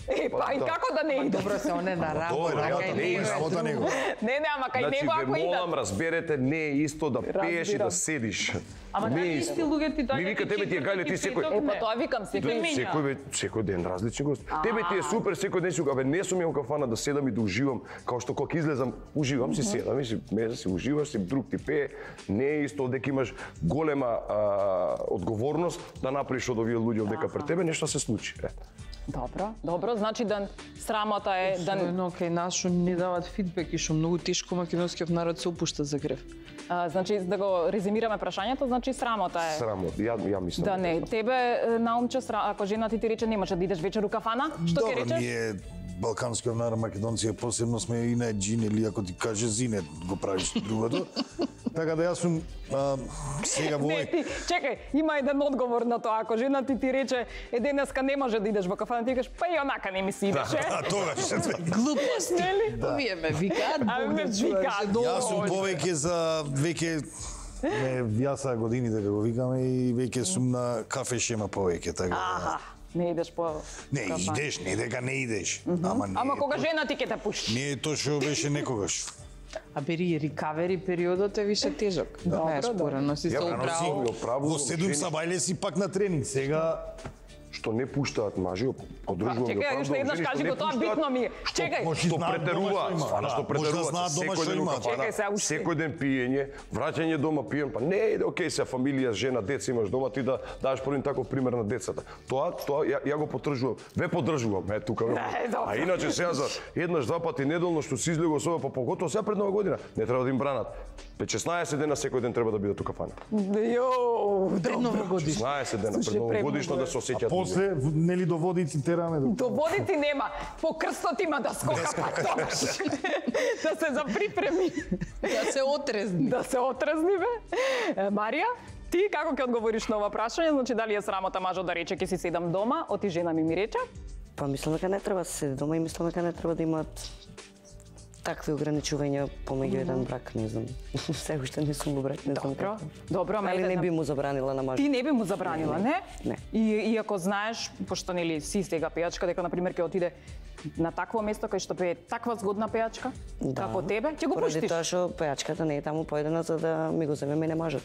Е, па и да. како да не иде? Добро се оне на работа, Добро, кај работа, него не е е Работа друго. него. Не, не, ама кај Значи, него ве ако молам, идат. разберете, не е исто да пееш и да Разбирам. седиш. Ама не таа е исти исто. луѓе ти Ми доаѓаат вика, и тебе ти е гајле, ти четврток и секој... петок, Е, па не. тоа викам, секој менја. Секој ве, секој ден различни гости. Тебе ти е супер, секој ден си го, абе не сум ја у кафана да седам и да уживам, као што кога излезам, уживам си седам и си меза си уживаш, си друг ти пее. Не е исто дека имаш голема а, одговорност да направиш од овие луѓе дека пред тебе нешто се случи. Е. Добро, добро, значи да срамота е да Особено кај нас што не дават фидбек и што многу тешко македонскиот народ се опушта за грев. а, значи да го резимираме прашањето, значи срамота е. Срамот, ја ја мислам. Да не, тебе наумче сра... ако жена ти ти рече немаш да идеш вечер у кафана, што ќе Добро, речеш? ние балканскиот народ, македонци, посебно сме и на джин или ако ти каже зине, го правиш другото. Така да јас сум а, сега во Не, овој... ти, чекај, има еден одговор на тоа. Ако жена ти ти рече, е денеска не може да идеш во кафана, ти кажеш, па и онака не ми си идеше. А тогаш се две. Глупости. Нели? Да. Овие ме викаат, А, Бог ме да чуваш. викаат. Јас сум повеќе за веќе ме вјаса годините да го викаме и веќе сум на кафе шема повеќе, така. Аха, не идеш по Не кафана. идеш, не дека не идеш. Ама не. Ама кога жена ти ќе те пушти. Не е тоа што беше некогаш. А бери рикавери периодот е више тежок. Знаеш, добро. порано си се Ја, Рано си управо. право, во седум жени- сабајле си пак на тренинг. Сега Што не пуштаат мажи, поддржувам. Чекај, го, уште еднаш жени што кажи не го, тоа пуштаат, битно ми е. Чекај, може Што знаат дома претеруваат, што има. стварно што Да, претеруваат, може да знаат дома секој што ден у има. кафана, Чекај се, уште. секој ден пиење, враќање дома пиен, па не е окей се фамилија, жена, деца имаш дома, ти да дадеш првин таков пример на децата. Тоа, тоа ја, ја го поддржувам. Ве поддржувам, е тука. Не, добро. А иначе сега за еднаш два пати неделно што си излегува со, па поготово сега пред нова година, не треба да им бранат. петнаесет дена секој ден треба да бидат у кафана. Јоу, Пред новогодишно. шеснаесет дена Слушај, пред новогодишно да се осеќаат. после нели до водици тераме до до водици нема. По крстот има да скока пак тогаш. Да се заприпреми. Да се отрезни. Да се отрезни, бе. Е, Марија, ти како ќе одговориш на ова прашање? Значи, дали е срамота мажот да рече ќе си седам дома, оти жена ми ми рече? Па мислам дека не треба да се седи дома и мислам дека не треба да имаат такви ограничувања помеѓу еден брак, не знам. Се уште не сум во брак, не знам Добро, како. добро, ама Али ете, не би му забранила на мажот. Ти не би му забранила, не? Не. И, и ако знаеш, пошто нели си сега пејачка, дека на пример ќе отиде на такво место кај што пее таква згодна пејачка, како тебе, ќе го Поради пуштиш. тоа што пејачката не е таму поедена за да ми го земе мене мажот.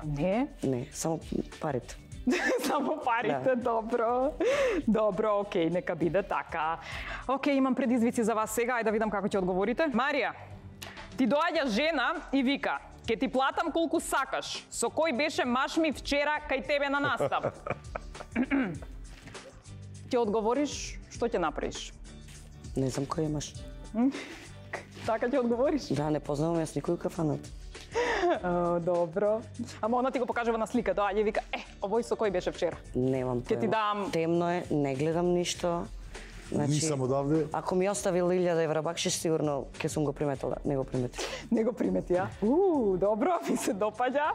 Не, Не, само парите. само парите, добро. Добро, окей, нека биде така. Окей, имам предизвици за вас сега, ајде да видам како ќе одговорите. Марија, ти доаѓа жена и вика: "Ке ти платам колку сакаш. Со кој беше маш ми вчера кај тебе на настап?" Ќе одговориш, што ќе направиш? Не знам кој имаш. Така ќе одговориш? Да, не познавам јас никој у кафанат. О, добро. Ама она ти го покажува на слика, доаѓа и вика: "Е, овој со кој беше вчера?" Немам Ќе ти појма. дам- Темно е, не гледам ништо. Значи, Нисам одавде. Ако ми оставил илјада евра бакшиш, сигурно ќе сум го приметила. Не го приметив. Не го примети, а? У, добро, ми се допаѓа.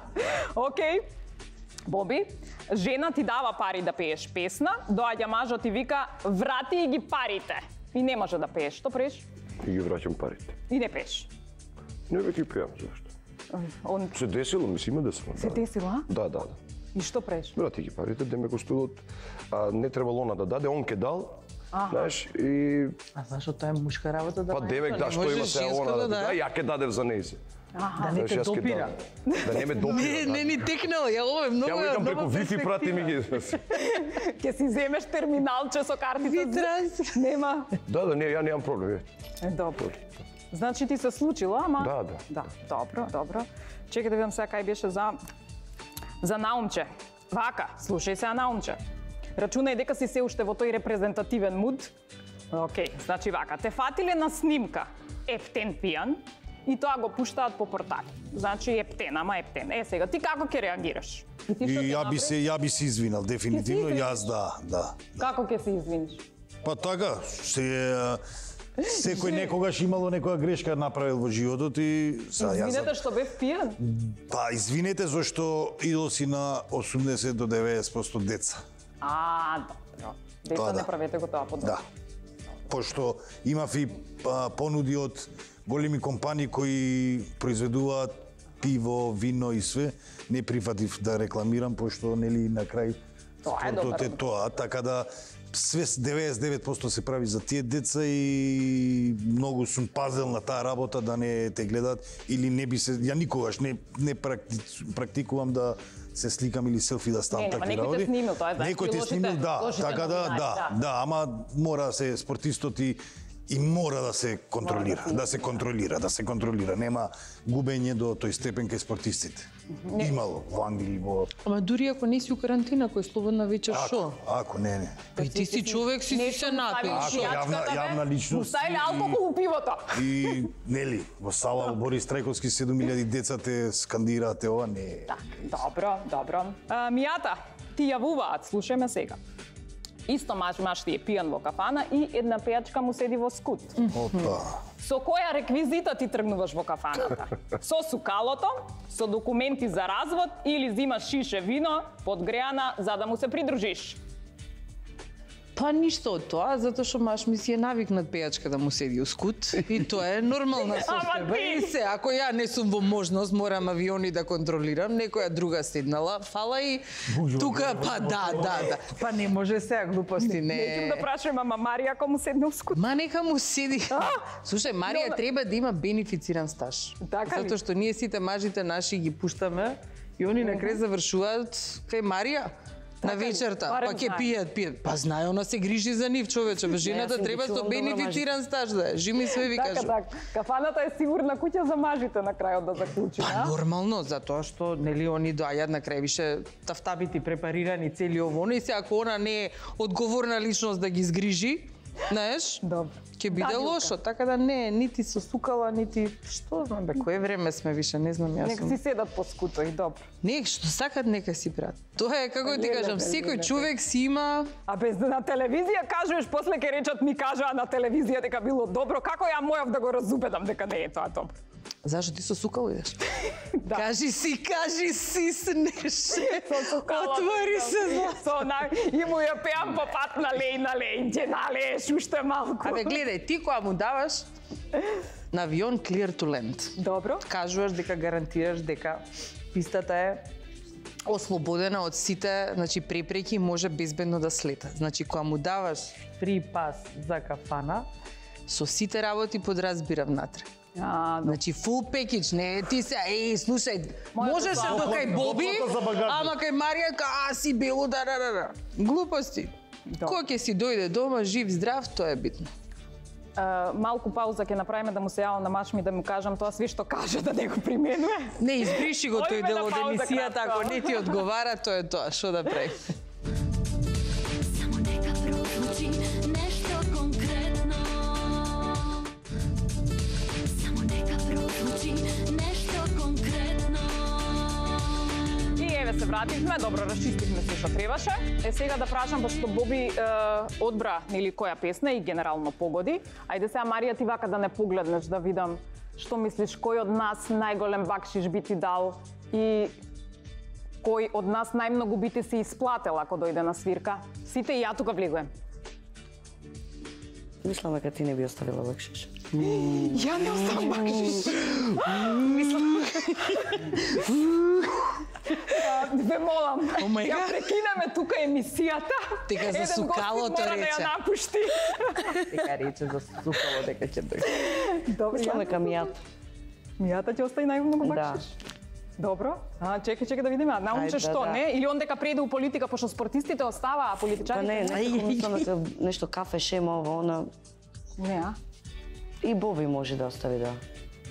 Океј. Боби, жена ти дава пари да пееш песна, доаѓа мажот и вика: "Врати и ги парите." И не може да пееш. Што правиш? И ги враќам парите. И не пееш. Не веќе ги пеам, зашто? Он Се десило, ми си има десило. се десила, а? Да, да, да. И што правиш? Брати ги парите, деме го студот, а, не требало она да даде, он ке дал, знаеш, и А зашо тоа е мушка работа да па девек да, што има се она да даде, ја ке дадев за нејзе. Да не те допира. Да не ме допира. Не, да. не ни текнало, ја ова е многу Ја го викам преку многу Wi-Fi прати ми ги. Ќе си земеш терминалче со картица. Витрас. Нема. Да, да, не, ја немам проблем. е. Е, добро. Значи ти се случило, ама... Да, да. Да, добро, добро. Чекај да видам сега кај беше за... За Наумче. Вака, слушај сега Наумче. Рачунај дека си се уште во тој репрезентативен муд. Океј, значи вака, те фатиле на снимка ептен пијан и тоа го пуштаат по портали. Значи ептен, ама ептен. Е, сега, ти како ќе реагираш? И ти И што ќе ја би направиш? се ја би се извинал дефинитивно, Ќе се јас да, да. Како ќе се извиниш? Па така, се секој некогаш имало некоја грешка направил во животот и са јас. Извинете што бев пијан? Па извинете зашто идол си на осумдесет до деветдесет проценти деца. А, добро. Деца, Тоа не да. правете го тоа подобро. Да. Пошто имав и а, понуди од големи компании кои произведуваат пиво, вино и све, не прифатив да рекламирам пошто нели на крај Тоа е спортот добар е тоа, така да све деветдесет и девет проценти се прави за тие деца и многу сум пазел на таа работа да не те гледат или не би се ја никогаш не не практи, практикувам да се сликам или селфи да ставам Не, нема, такви некој те работи. снимил, тоа е, знаеш, Некој кои те лошите- снимил, да, лошите така да, новинари, да, да. да, ама мора се спортистот и И мора да се контролира, да се контролира, да се контролира. Нема губење до тој степен кај спортистите. Имало во Англија, во... Ама дури ако не си у карантина, кој слободна вечер, шо? Ако, не, не. Па и ти си човек, си си се напил. Ако јавна, јавна личност... Ставиле алкохол у пивото. И, нели, во сала во Борис Трајковски седум илјади деца те скандираат, ова не... Так, добро, добро. А, Мијата, ти јавуваат, слушајме сега. Исто маж маж ти е пијан во кафана и една пејачка му седи во скут. Опа. Со која реквизита ти тргнуваш во кафаната? Со сукалото, со документи за развод или зимаш шише вино подгреана за да му се придружиш? Па ништо од тоа, затоа што маж ми си е навикнат пејачка да му седи у скут и тоа е нормална состојба. ти! И се, ако ја не сум во можност, морам авиони да контролирам, некоја друга седнала, фала и тука, па да, да, да. Па не може сега глупости, не. Неќам да прашам, ама Марија ако му седне у скут? Ма нека му седи. Слушај, Марија Добре. треба да има бенефициран стаж. Така ли? Затоа што ние сите мажите наши ги пуштаме и они на крај завршуваат кај Марија. На Така ли? вечерта, Барем па ќе знае. пијат, пијат. Па знае, она се грижи за нив, човече. Бе, жената јас им треба ги со чувам добро бенефициран стаж да е. Жими све ви Така, кажу. така. Кафаната е сигурна куќа за мажите на крајот да заклучи, Па а? нормално, затоа што нели они доаѓаат на крај више тафтабити препарирани цели ово, и се ако она не е одговорна личност да ги згрижи, знаеш? Добро. Ќе биде Да, лошо, така да не, нити со сукала, нити што знам бе, кое време сме више, не знам јас. Нека сум- си седат по скуто и добро. Не, што сакат нека си прават. Тоа е како ти Леле, кажам, леле, секој леле. човек си има. А без на телевизија кажуваш, после ке речат ми кажаа на телевизија дека било добро, како ја мојав да го разубедам дека не е тоа добро? Зашо ти со сукало идеш? Да. Кажи си, кажи си, снеше. Со сукалото Отвори идам. се. за- Со на и му ја пеам по пат на леј на леј, ќе налееш уште малку. Абе, гледај, ти која му даваш на авион clear to land. Добро. Кажуваш дека гарантираш дека пистата е ослободена од сите, значи препреки, може безбедно да слета. Значи кога му даваш фри пас за кафана, со сите работи подразбира внатре. А, добро. Значи full package, не ти се, еј, слушај, Мојата можеше слава. до кај Боби, Доплата за багажник. ама кај Марија, ка, а си бело, да, да, да, да. Глупости. Добро. Кој ќе си дојде дома, жив, здрав, тоа е битно. А, малку пауза ќе направиме да му се јавам на мач ми да му кажам тоа све што каже да не го применува. Не, избриши го тој Одиме дел на од пауза емисијата, кратко. ако не ти одговара, тоа е тоа, што да прави. Само нека прозвучи нешто конкретно. Само нека прозвучи нешто конкретно. И еве се вративме, добро расчистивме се што требаше. Е сега да прашам, пошто Боби е, одбра нели која песна и генерално погоди. Ајде сега Марија ти вака да не погледнеш да видам што мислиш кој од нас најголем бакшиш би ти дал и кој од нас најмногу би ти се исплател ако дојде на свирка. Сите и ја тука влегувам. Мислам дека ти не би оставила бакшиш. Ја не оставам бакшиш. Мислам. А, Ве молам, my ја God. прекинеме тука емисијата. Дека за Еден гостин сукалото мора да рече. ја напушти. Дека рече за сукало дека ќе дојде. Добро, Мислам ја. дека мијата. Мијата ќе остави најмногу Да. бакшиш. Добро. А, чекај, чекај да видиме. А научиш Ајде, што, да. не? Или он дека преде у политика, пошто спортистите оставаа, а Па политичарите не, не, мислам дека нешто кафе, шема, ово, она. Не, а? И Боби може да остави, да.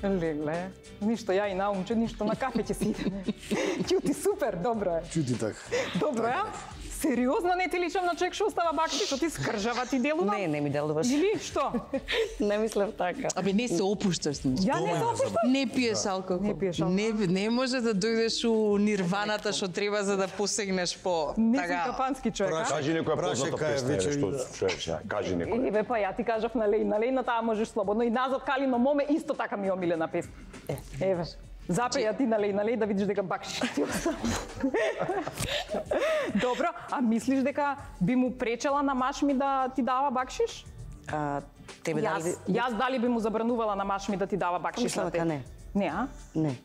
Леле, ништо ја и наумче, ништо на кафе ќе си идеме. Ќути супер, добро е. Чути така. Добро е. Сериозно не ти личам на човек што остава бакшиш, што ти скржава ти делува? Не, не ми делуваш. Или што? Не мислев така. Абе не се опушташ с нив. Ја не се опуштам. Не пиеш алкохол. Не пиеш алкохол. Не, не може да дојдеш у нирваната што треба за да посегнеш по Не си така. капански човек, а? Кажи некоја Прашај позната кај е песна, вечер еве, што да. чуеш, ја, кажи некоја. Еве па ја ти кажав на леј, на леј на таа можеш слободно и назад Калино моме исто така ми е омилена песна. Еве. Запеја ти на леј, на леј да видиш дека бакшиш ти остава. Добро, а мислиш дека би му пречела на маш ми да ти дава бакшиш? А, тебе Јас, дали... јас дали би му забранувала на маш ми да ти дава бакшиш Мислам на дека те? не. Не, а? Не.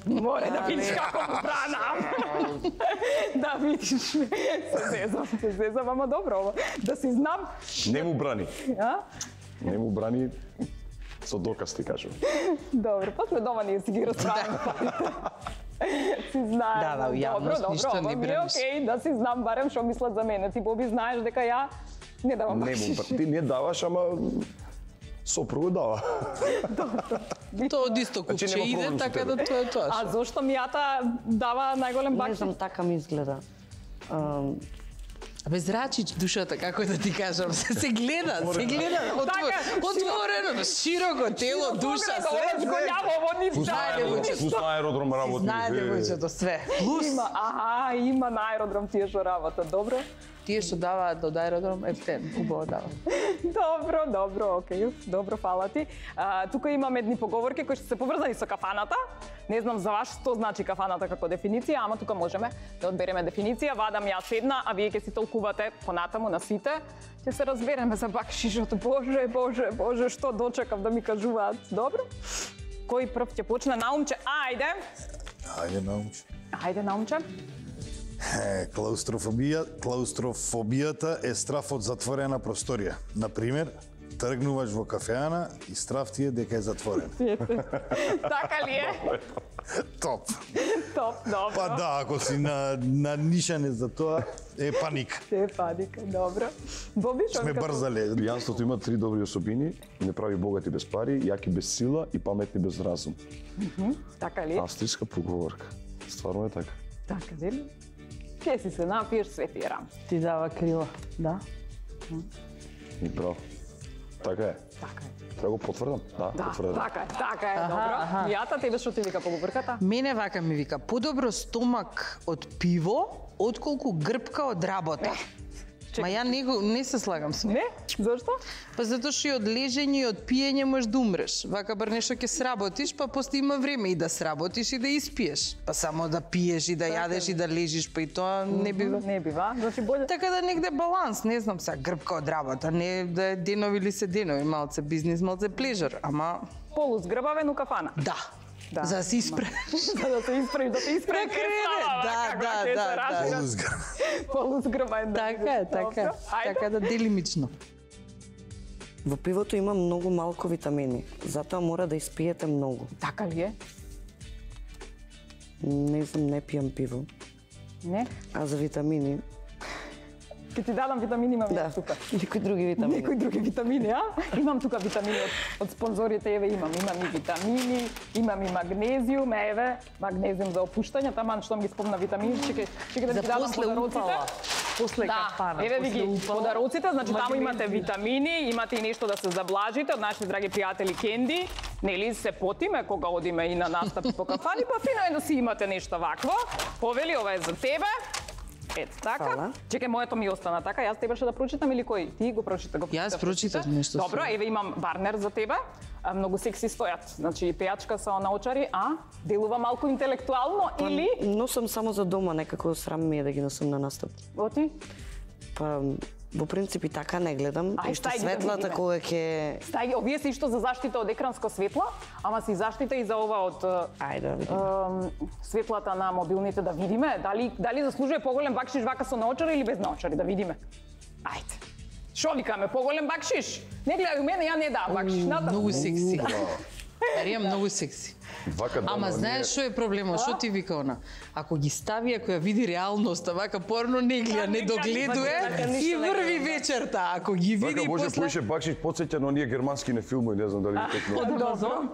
Море да видиш како го бранам. Да видиш. Се зезам, се зезам, ама добро ова. Да си знам. Не му брани. А? Не му брани со доказ ти кажувам. Добро, после дома ние си ги расправаме. Си знаеш. Да, да, у јавност добро, ништо добро, не ова ми е браниш. окей, да си знам барем што мислат за мене. Ти Боби знаеш дека ја не давам Не му бакшиш. брани. Ти не даваш, ама Сопруга дава. Тоа од исто Значи, купче нема иде, проблем со така тебе. да тоа е тоа. А зошто мијата дава најголем Не бакшиш? знам, така ми изгледа. Ам, Абе, зрачич душата, како да ти кажам, се, се гледа, се гледа, отвор, Така, отворено, широко тело, душа, све, Голјаво, ово ни Пус на Знаете, аеродром, вуќе, пус на аеродром работи. знае е. девојчето све. Плюс, Има, аха, има на аеродром тие што работа, добро? тие што даваат од аеродром, ептен, убаво дава. Добро, добро, окей, добро, фала ти. А, тука имаме едни поговорки кои што се поврзани со кафаната. Не знам за вас што значи кафаната како дефиниција, ама тука можеме да одбереме дефиниција. Вадам јас една, а вие ќе си толкувате понатаму на сите. Ќе се разбереме за бакшишот. Боже, боже, боже, што дочекав да ми кажуваат. Добро? Кој прв ќе почне? Наумче, ајде. Ајде, научи. Ајде, Наумче. Е, клаустрофобија, клаустрофобијата е страф од затворена просторија. Например, тргнуваш во кафеана и страф ти е дека е затворен. Така ли е? Топ. Топ, добро. Па да, ако си на, на нишане за тоа, е паник. Те паника, добро. Боби, што Сме ми кажуваш? брзале. Пијанството има три добри особини, не прави богати без пари, јаки без сила и паметни без разум. Така ли? Австријска поговорка. Стварно е така. Така ли? Ке си се напиеш, све ти е рам. Ти дава крила, да. И браво. Така е. Така е. Треба го потврдам? Да, Да, потврдам. така е, така е, Аха, добро. аха. Мијата, тебе што ти вика поговорката? Мене вака ми вика, подобро стомак од пиво, отколку грбка од работа. Ма ја не, го, не се слагам со. Не? Зошто? Па затоа што и од лежење и од пиење можеш да умреш. Вака бар нешто ќе сработиш, па после има време и да сработиш и да испиеш. Па само да пиеш и да јадеш и да лежиш, па и тоа не бива. Не бива, значи боле. Така да негде баланс, не знам сега, грбка од работа, не да е денови или се денови, малце бизнис, малце плежер, ама Полузгрбавен у кафана. да. Да. За да се испре. За да се исправиш, да се исправиш. Да крене, да, да, да, да. Полузгар. Полузгрбавен. да Така бидеш. е, така. Добро. Ајде. Така да делимично. Во пивото има многу малку витамини, затоа мора да испиете многу. Така ли е? Не знам, не пијам пиво. Не? А за витамини, Ке ти дадам витамини, имам да, јас тука. некои други витамини. Некои други витамини, а? Имам тука витамини од, од спонзорите, еве имам. Имам и витамини, имам и магнезиум, еве, магнезиум за опуштање, таман што ги спомна витамини, чеке, чеке да За ти дадам после подароците. упала. После Да, кафана. еве ви после ги упала. подароците, значи таму Магнезиум. имате витамини, имате и нешто да се заблажите од нашите драги пријатели Кенди. Нели се потиме кога одиме и на настапи по кафани, па фино е да си имате нешто вакво. Повели, ова е за тебе. Ето така. Фала. Чекај, моето ми остана така. Јас требаше да прочитам или кој? Ти го прочита, го Јас прочитав. прочитав нешто Добро, со- еве имам барнер за тебе. А, многу секси стојат. Значи пејачка со наочари, а делува малку интелектуално или Носам само за дома, некако срам ми е да ги носам на настап. оти? Па, во принцип и така не гледам, Ај, и што стај ги да светлата видиме. кога ќе... Стај, овие се што за заштита од екранско светло, ама си заштита и за ова од Ајде да видиме. ем, светлата на мобилните, да видиме дали дали заслужува поголем бакшиш вака со наочари или без наочари, да видиме. Ајде. Шо викаме, поголем бакшиш? Не гледај у мене, ја не дам бакшиш. Натаму. Многу секси. Марија многу секси. Вака да, Ама но знаеш што е проблемот? Што ти вика она? Ако ги стави, ако ја види реалноста, вака порно не гледа, не догледуе и врви вечерта. Ако ги Вака види може после... поише бакшиш подсеќа на оние германски не филмови, не знам дали ги текнува. Од Амазон?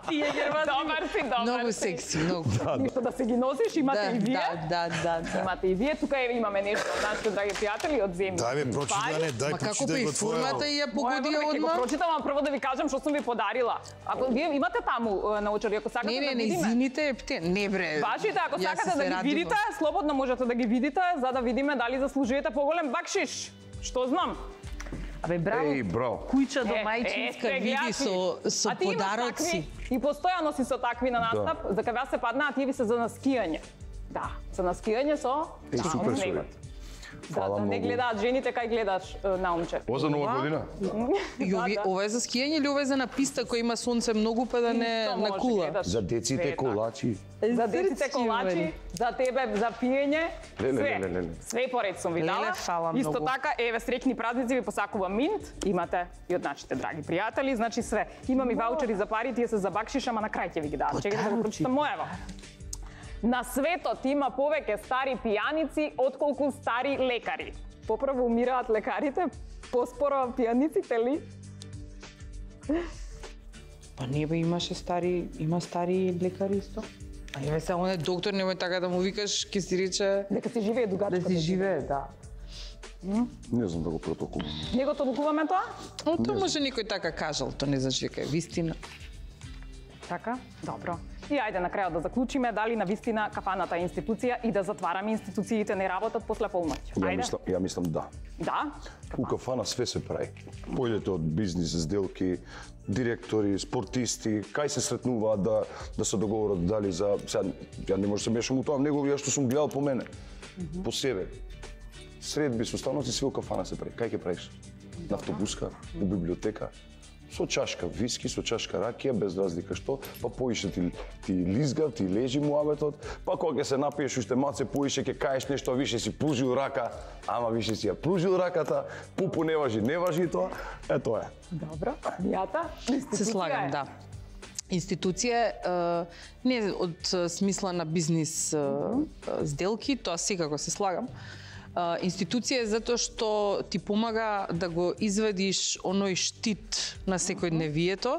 Тие германски. Добар си, добар Многу си. секси, многу. Ништо да се ги носиш, имате Да, и вие. да, да, да, да. Имате и вие. Тука еве имаме нешто од нашите драги пријатели од земја. Дај бе, прочитане, дај Ма како па прочитај и го формата твоја. и ја Моја погоди врве ќе го одма? прочитам, а прво да ви кажам што сум ви подарила. Ако вие имате таму е, научари, ако сакате Не, да не, не, видиме. извините, епте, не бре. Вашите, ако Јас сакате се да ги радувам. видите, слободно можете да ги видите, за да видиме дали заслужувате поголем бакшиш. Што знам? Абе, браво. Еј, браво. Куќа до Е, мајчинска е, види гледаш со, ли? со А ти имаш подароци. такви, и постојано си со такви на настап, за кога се паднаа, тие ви се за наскијање. Да, за наскијање со Е, супер со совет. Да, Фала да не многу. гледаат жените кај гледаш е, наумче. Ова за нова година? И овие, Да, да. ова е за скијање или ова е за на писта која има сонце многу па да не Исто може, на кула? гледаш. За деците Све е колачи. За деците Срцки, колачи, вели. за тебе за пиење, Леле, све. леле, леле. Све поред сум ви Леле, дала. фала Исто многу. така, еве среќни празници ви посакува Минт, имате и од нашите драги пријатели, значи све. Имам и ваучери за пари, тие се за бакшиш, ама на крај ќе ви ги дадам. Чекајте да го прочитам моево. На светот има повеќе стари пијаници отколку стари лекари. Поправо умираат лекарите, поспоро пијаниците ли? Па не бе, имаше стари, има стари лекари исто. А не бе, само не доктор, немој така да му викаш, ќе си рече Дека си живее дугачко. да си живее, да. Не знам да го протолкувам. Не го толкуваме тоа? Но тоа може некој така кажал, тоа не значи дека е вистина. Така, добро. И ајде на крајот да заклучиме дали на вистина кафаната е институција и да затвараме институциите не работат после полноќ. Ја Ајде. мислам, ја мислам да. Да? У кафана све се прави. Појдете од бизнис сделки, директори, спортисти, кај се сретнуваат да да се договорат дали за сега ја не може да се мешам у тоа, него ја што сум гледал по мене, по себе. Средби со станоци све у кафана се прави. Кај ќе правиш? На автобуска, у библиотека, со чашка виски, со чашка ракија, без разлика што, па поише ти, ти лизгав, ти лежи муабетот, па кога ќе се напиеш уште малце поише, ќе кажеш нешто, више си пружил рака, ама више си ја пружил раката, пупу не важи, не важи тоа, е тоа е. Добро. Мијата? Се слагам, да. Институција е не од е, смисла на бизнис е, е, сделки, тоа секако се слагам. Uh, институција е затоа што ти помага да го извадиш оној штит на секојдневието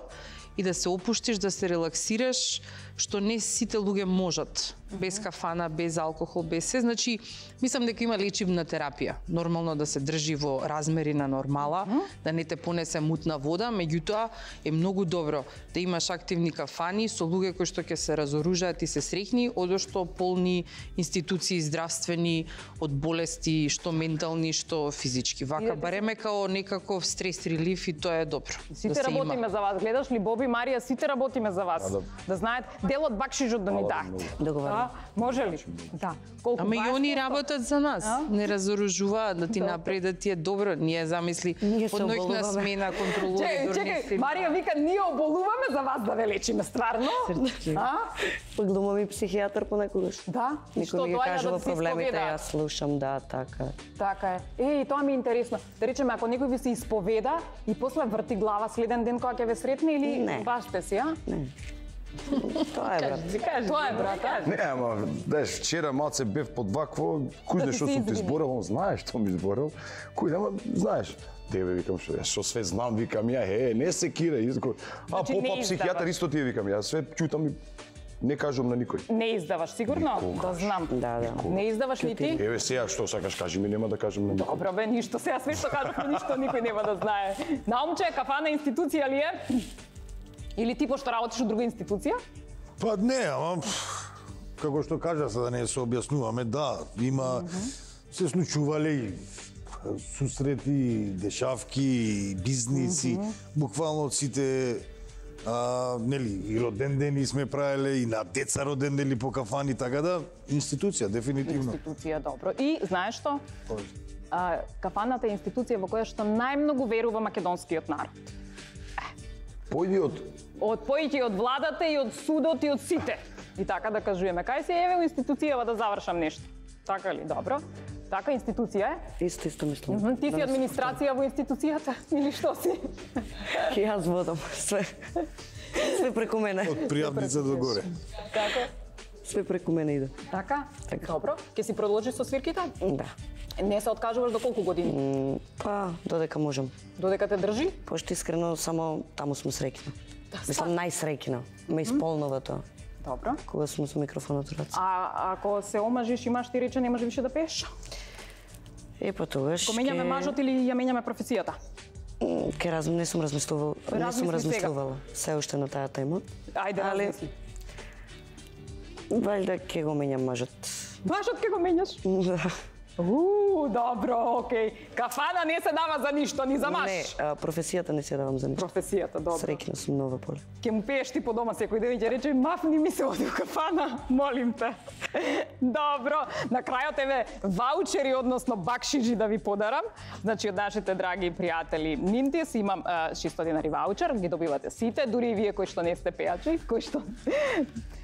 и да се опуштиш, да се релаксираш, што не сите луѓе можат. Без кафана, без алкохол, без се. Значи, мислам дека има лечивна терапија. Нормално да се држи во размери на нормала, да не те понесе мутна вода, меѓутоа е многу добро да имаш активни кафани со луѓе кои што ќе се разоружаат и се среќни, одошто полни институции здравствени од болести, што ментални, што физички. Вака бареме као некаков стрес релиф и тоа е добро. Сите да се работиме има. за вас. Гледаш ли Боби, Марија, сите работиме за вас. Да, да. Да знаат дел од бакшижот да ни дадете. Договорено. Да, може ли? Да. Колку Ама и дваесет они проценти? работат за нас, А? не разоружуваат да ти Добро. напред да ти е добро. Ние замисли Ние се од ноќна оболуваме. смена контролори Чекај, дори не чекај, се- Марија вика, ние оболуваме за вас да ве лечиме, стварно? А? Глумам и психијатар понекогаш. Да? Никој Што ми ги доаѓа кажува да ти се проблемите, исповеда? јас слушам, да, така. Така е. Е, и тоа ми е интересно. Да речеме, ако некој ви се исповеда и после врти глава следен ден кога ќе ве сретне или Не. баш сте си, а? Тоа е, брат. Тоа е, брат, а? Не, ама, знаеш, вчера малце бев под вакво, кој Да знае ти што се сум ти извини. зборал, он знаеш што ми зборал, кој ама, знаеш, тебе викам што, јас што све знам, викам ја, е, не се кира, изко. А Значи, не попа психијатар издаваш. исто ти викам, јас све чутам и не кажувам на никој. Не издаваш, сигурно? Никогаш. Да знам. Да, да. Не издаваш ни ти? Еве сега што сакаш кажи ми, нема да кажам на никој. Добро бе, ништо. Сега све што кажавме, ништо никој нема да знае. Наумче, кафана институција ли е? Или ти пошто работиш од друга институција? Па не, ама како што кажа, за да не се објаснуваме, да, има се случувале и сусрети, дешавки, бизниси, буквално од сите а, нели, и роден дени сме правеле, и на деца роден дени по кафани, така да, институција, дефинитивно. Институција, добро. И знаеш што? А, кафаната е институција во која што најмногу верува македонскиот народ. Појди од Од поиќе од владата и од судот и од сите. И така да кажуваме. Кај се еве у институцијава да завршам нешто. Така ли? Добро. Така институција е. Исто, исто мислам. Мгм, Ти си администрација во институцијата или што си? Јас водам све. Све преку мене. Од пријавница до горе. Како? Све преку мене иде. Така? Така. Добро. Ке си продолжиш со свирките? Да. Не се откажуваш до колку години? М, Па, додека можам. Додека те држи? Пошто искрено само таму сум среќна. Мислам најсреќна. Ме исполнува тоа. Добро. Кога сум со микрофонот у раце. А ако се омажиш, имаш ти рече, не може више да пееш? Е, па тогаш Ко менјаме мажот или ја менјаме професијата? М, Ке раз... не сум размислувал, не сум Размисли сега. размислувала се уште на таа тема. Ајде, Али- размисли. Валјда ќе го менјам мажот. Мажот ке го менјаш? Да. Уу, добро, окей. Кафана не се дава за ништо, ни за маж. Не, а, професијата не се давам за ништо. Професијата, добро. Среќна сум нова поле. Ке му пееш ти по дома секој ден и ќе рече, мафни ми се оди у кафана, молим те. Добро, на крајот еве ваучери, односно бакшиџи да ви подарам. Значи, од нашите драги пријатели Нинтис имам е, шестоста денари ваучер, ги добивате сите, дури и вие кои што не сте пејачи, кои што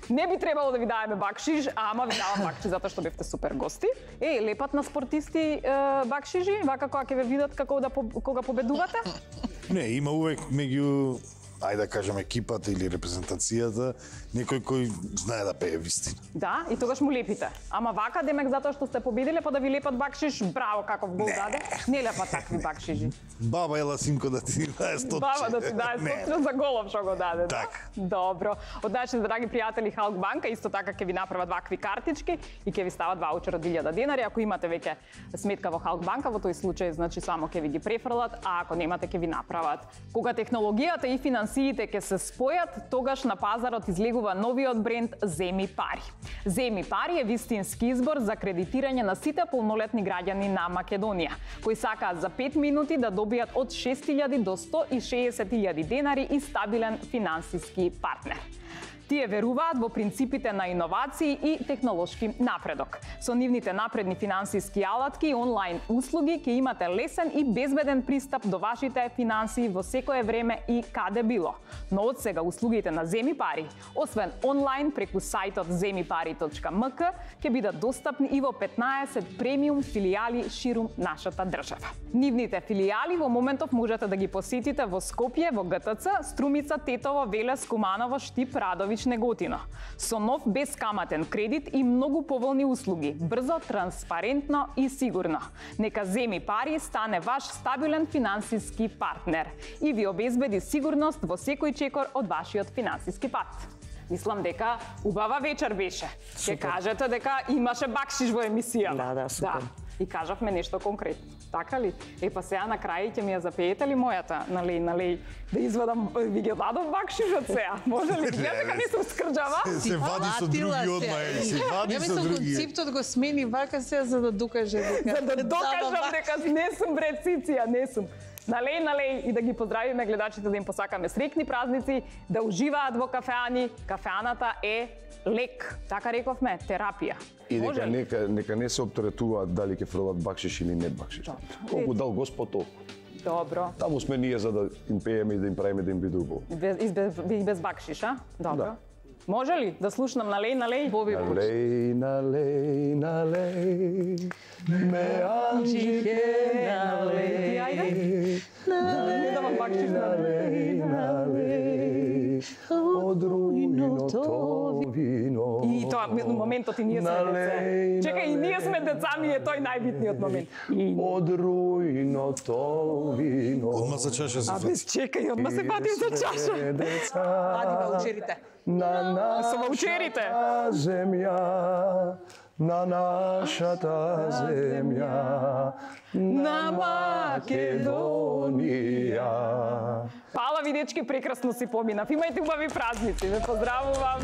не би требало да ви даваме бакшиш, ама ви давам бакшиш затоа што бевте супер гости. Е, лепат на спортисти е, бакшижи, вака кога ќе ве видат како да по- кога победувате. Не, има увек меѓу ајде да кажем екипата или репрезентацијата, некој кој знае да пее вистина. Да, и тогаш му лепите. Ама вака демек затоа што сте победиле па да ви лепат бакшиш, браво каков гол даде. Не лепат такви бакшиши. Баба ела синко да ти даде стотче. Баба да ти даде стотче за голов што го даде. Така. Да? Добро. Од нашите драги пријатели Халк банка исто така ќе ви направат вакви картички и ќе ви стават ваучер од илјада денари. Ако имате веќе сметка во Халк банка, во тој случај значи само ќе ви ги префрлат, а ако немате ќе ви направат. Кога технологијата и финансиите ќе се спојат, тогаш на пазарот излегува новиот бренд Земи пари. Земи пари е вистински избор за кредитирање на сите полнолетни граѓани на Македонија, кои сакаат за пет минути да добијат од шест илјади до сто и шеесет илјади денари и стабилен финансиски партнер. Тие веруваат во принципите на иновации и технолошки напредок. Со нивните напредни финансиски алатки и онлайн услуги ќе имате лесен и безбеден пристап до вашите финансии во секое време и каде било. Но од сега услугите на Земи пари, освен онлайн преку сајтот земи пари точка ем ка, ќе бидат достапни и во петнаесет премиум филијали ширум нашата држава. Нивните филијали во моментов можете да ги посетите во Скопје, во Г Т Ц, Струмица, Тетово, Велес, Куманово, Штип, Радови, Неготино. Со нов бескаматен кредит и многу поволни услуги, брзо, транспарентно и сигурно. Нека Земи пари стане ваш стабилен финансиски партнер и ви обезбеди сигурност во секој чекор од вашиот финансиски пат. Мислам дека убава вечер беше. Ќе кажете дека имаше бакшиш во емисијата. Да, да, супер. Да. И кажавме нешто конкретно. Така ли? Е, па сега на крај ќе ми ја запеете ли мојата, нали, нали, да извадам, ви ги дадов бакшишот сега? Може ли? Гледа дека не сум скрџава? Се, се вади со други одма, е, се вади Ја со мислам други. концептот го смени вака сега за да докаже дека... За да докажам дека не сум бре Циција, не сум. Налеј, налеј и да ги поздравиме гледачите, да им посакаме среќни празници, да уживаат во кафеани. Кафеаната е лек, така рековме, терапија. И Може дека ли? нека, нека не се оптеретуваат дали ќе фрлат бакшиш или не бакшиш. Колку дал Господ толку. Добро. Таму сме ние за да им пееме и да им правиме да им биде убаво. И без, и без, и без бакшиш, а? Добро. Да. Може ли да слушнам налеј, налеј? Боби Налеј, налеј, налеј, ме анџике, Ти, ајде. Не давам бакшиш, налеј. налеј, од руиното вино. И тоа моментот и ние сме Налеј, деца. Чекај, и ние сме деца, ми е тој најбитниот момент. И... Од руиното вино. Одма за чаша се А фати. без чекај, одма се патим за чаша. Ади ваучерите. На Со ваучерите. нашата земја, на нашата земја, на Македонија. Пала ви дечки, прекрасно си поминав. Имајте убави празници. Ве поздравувам.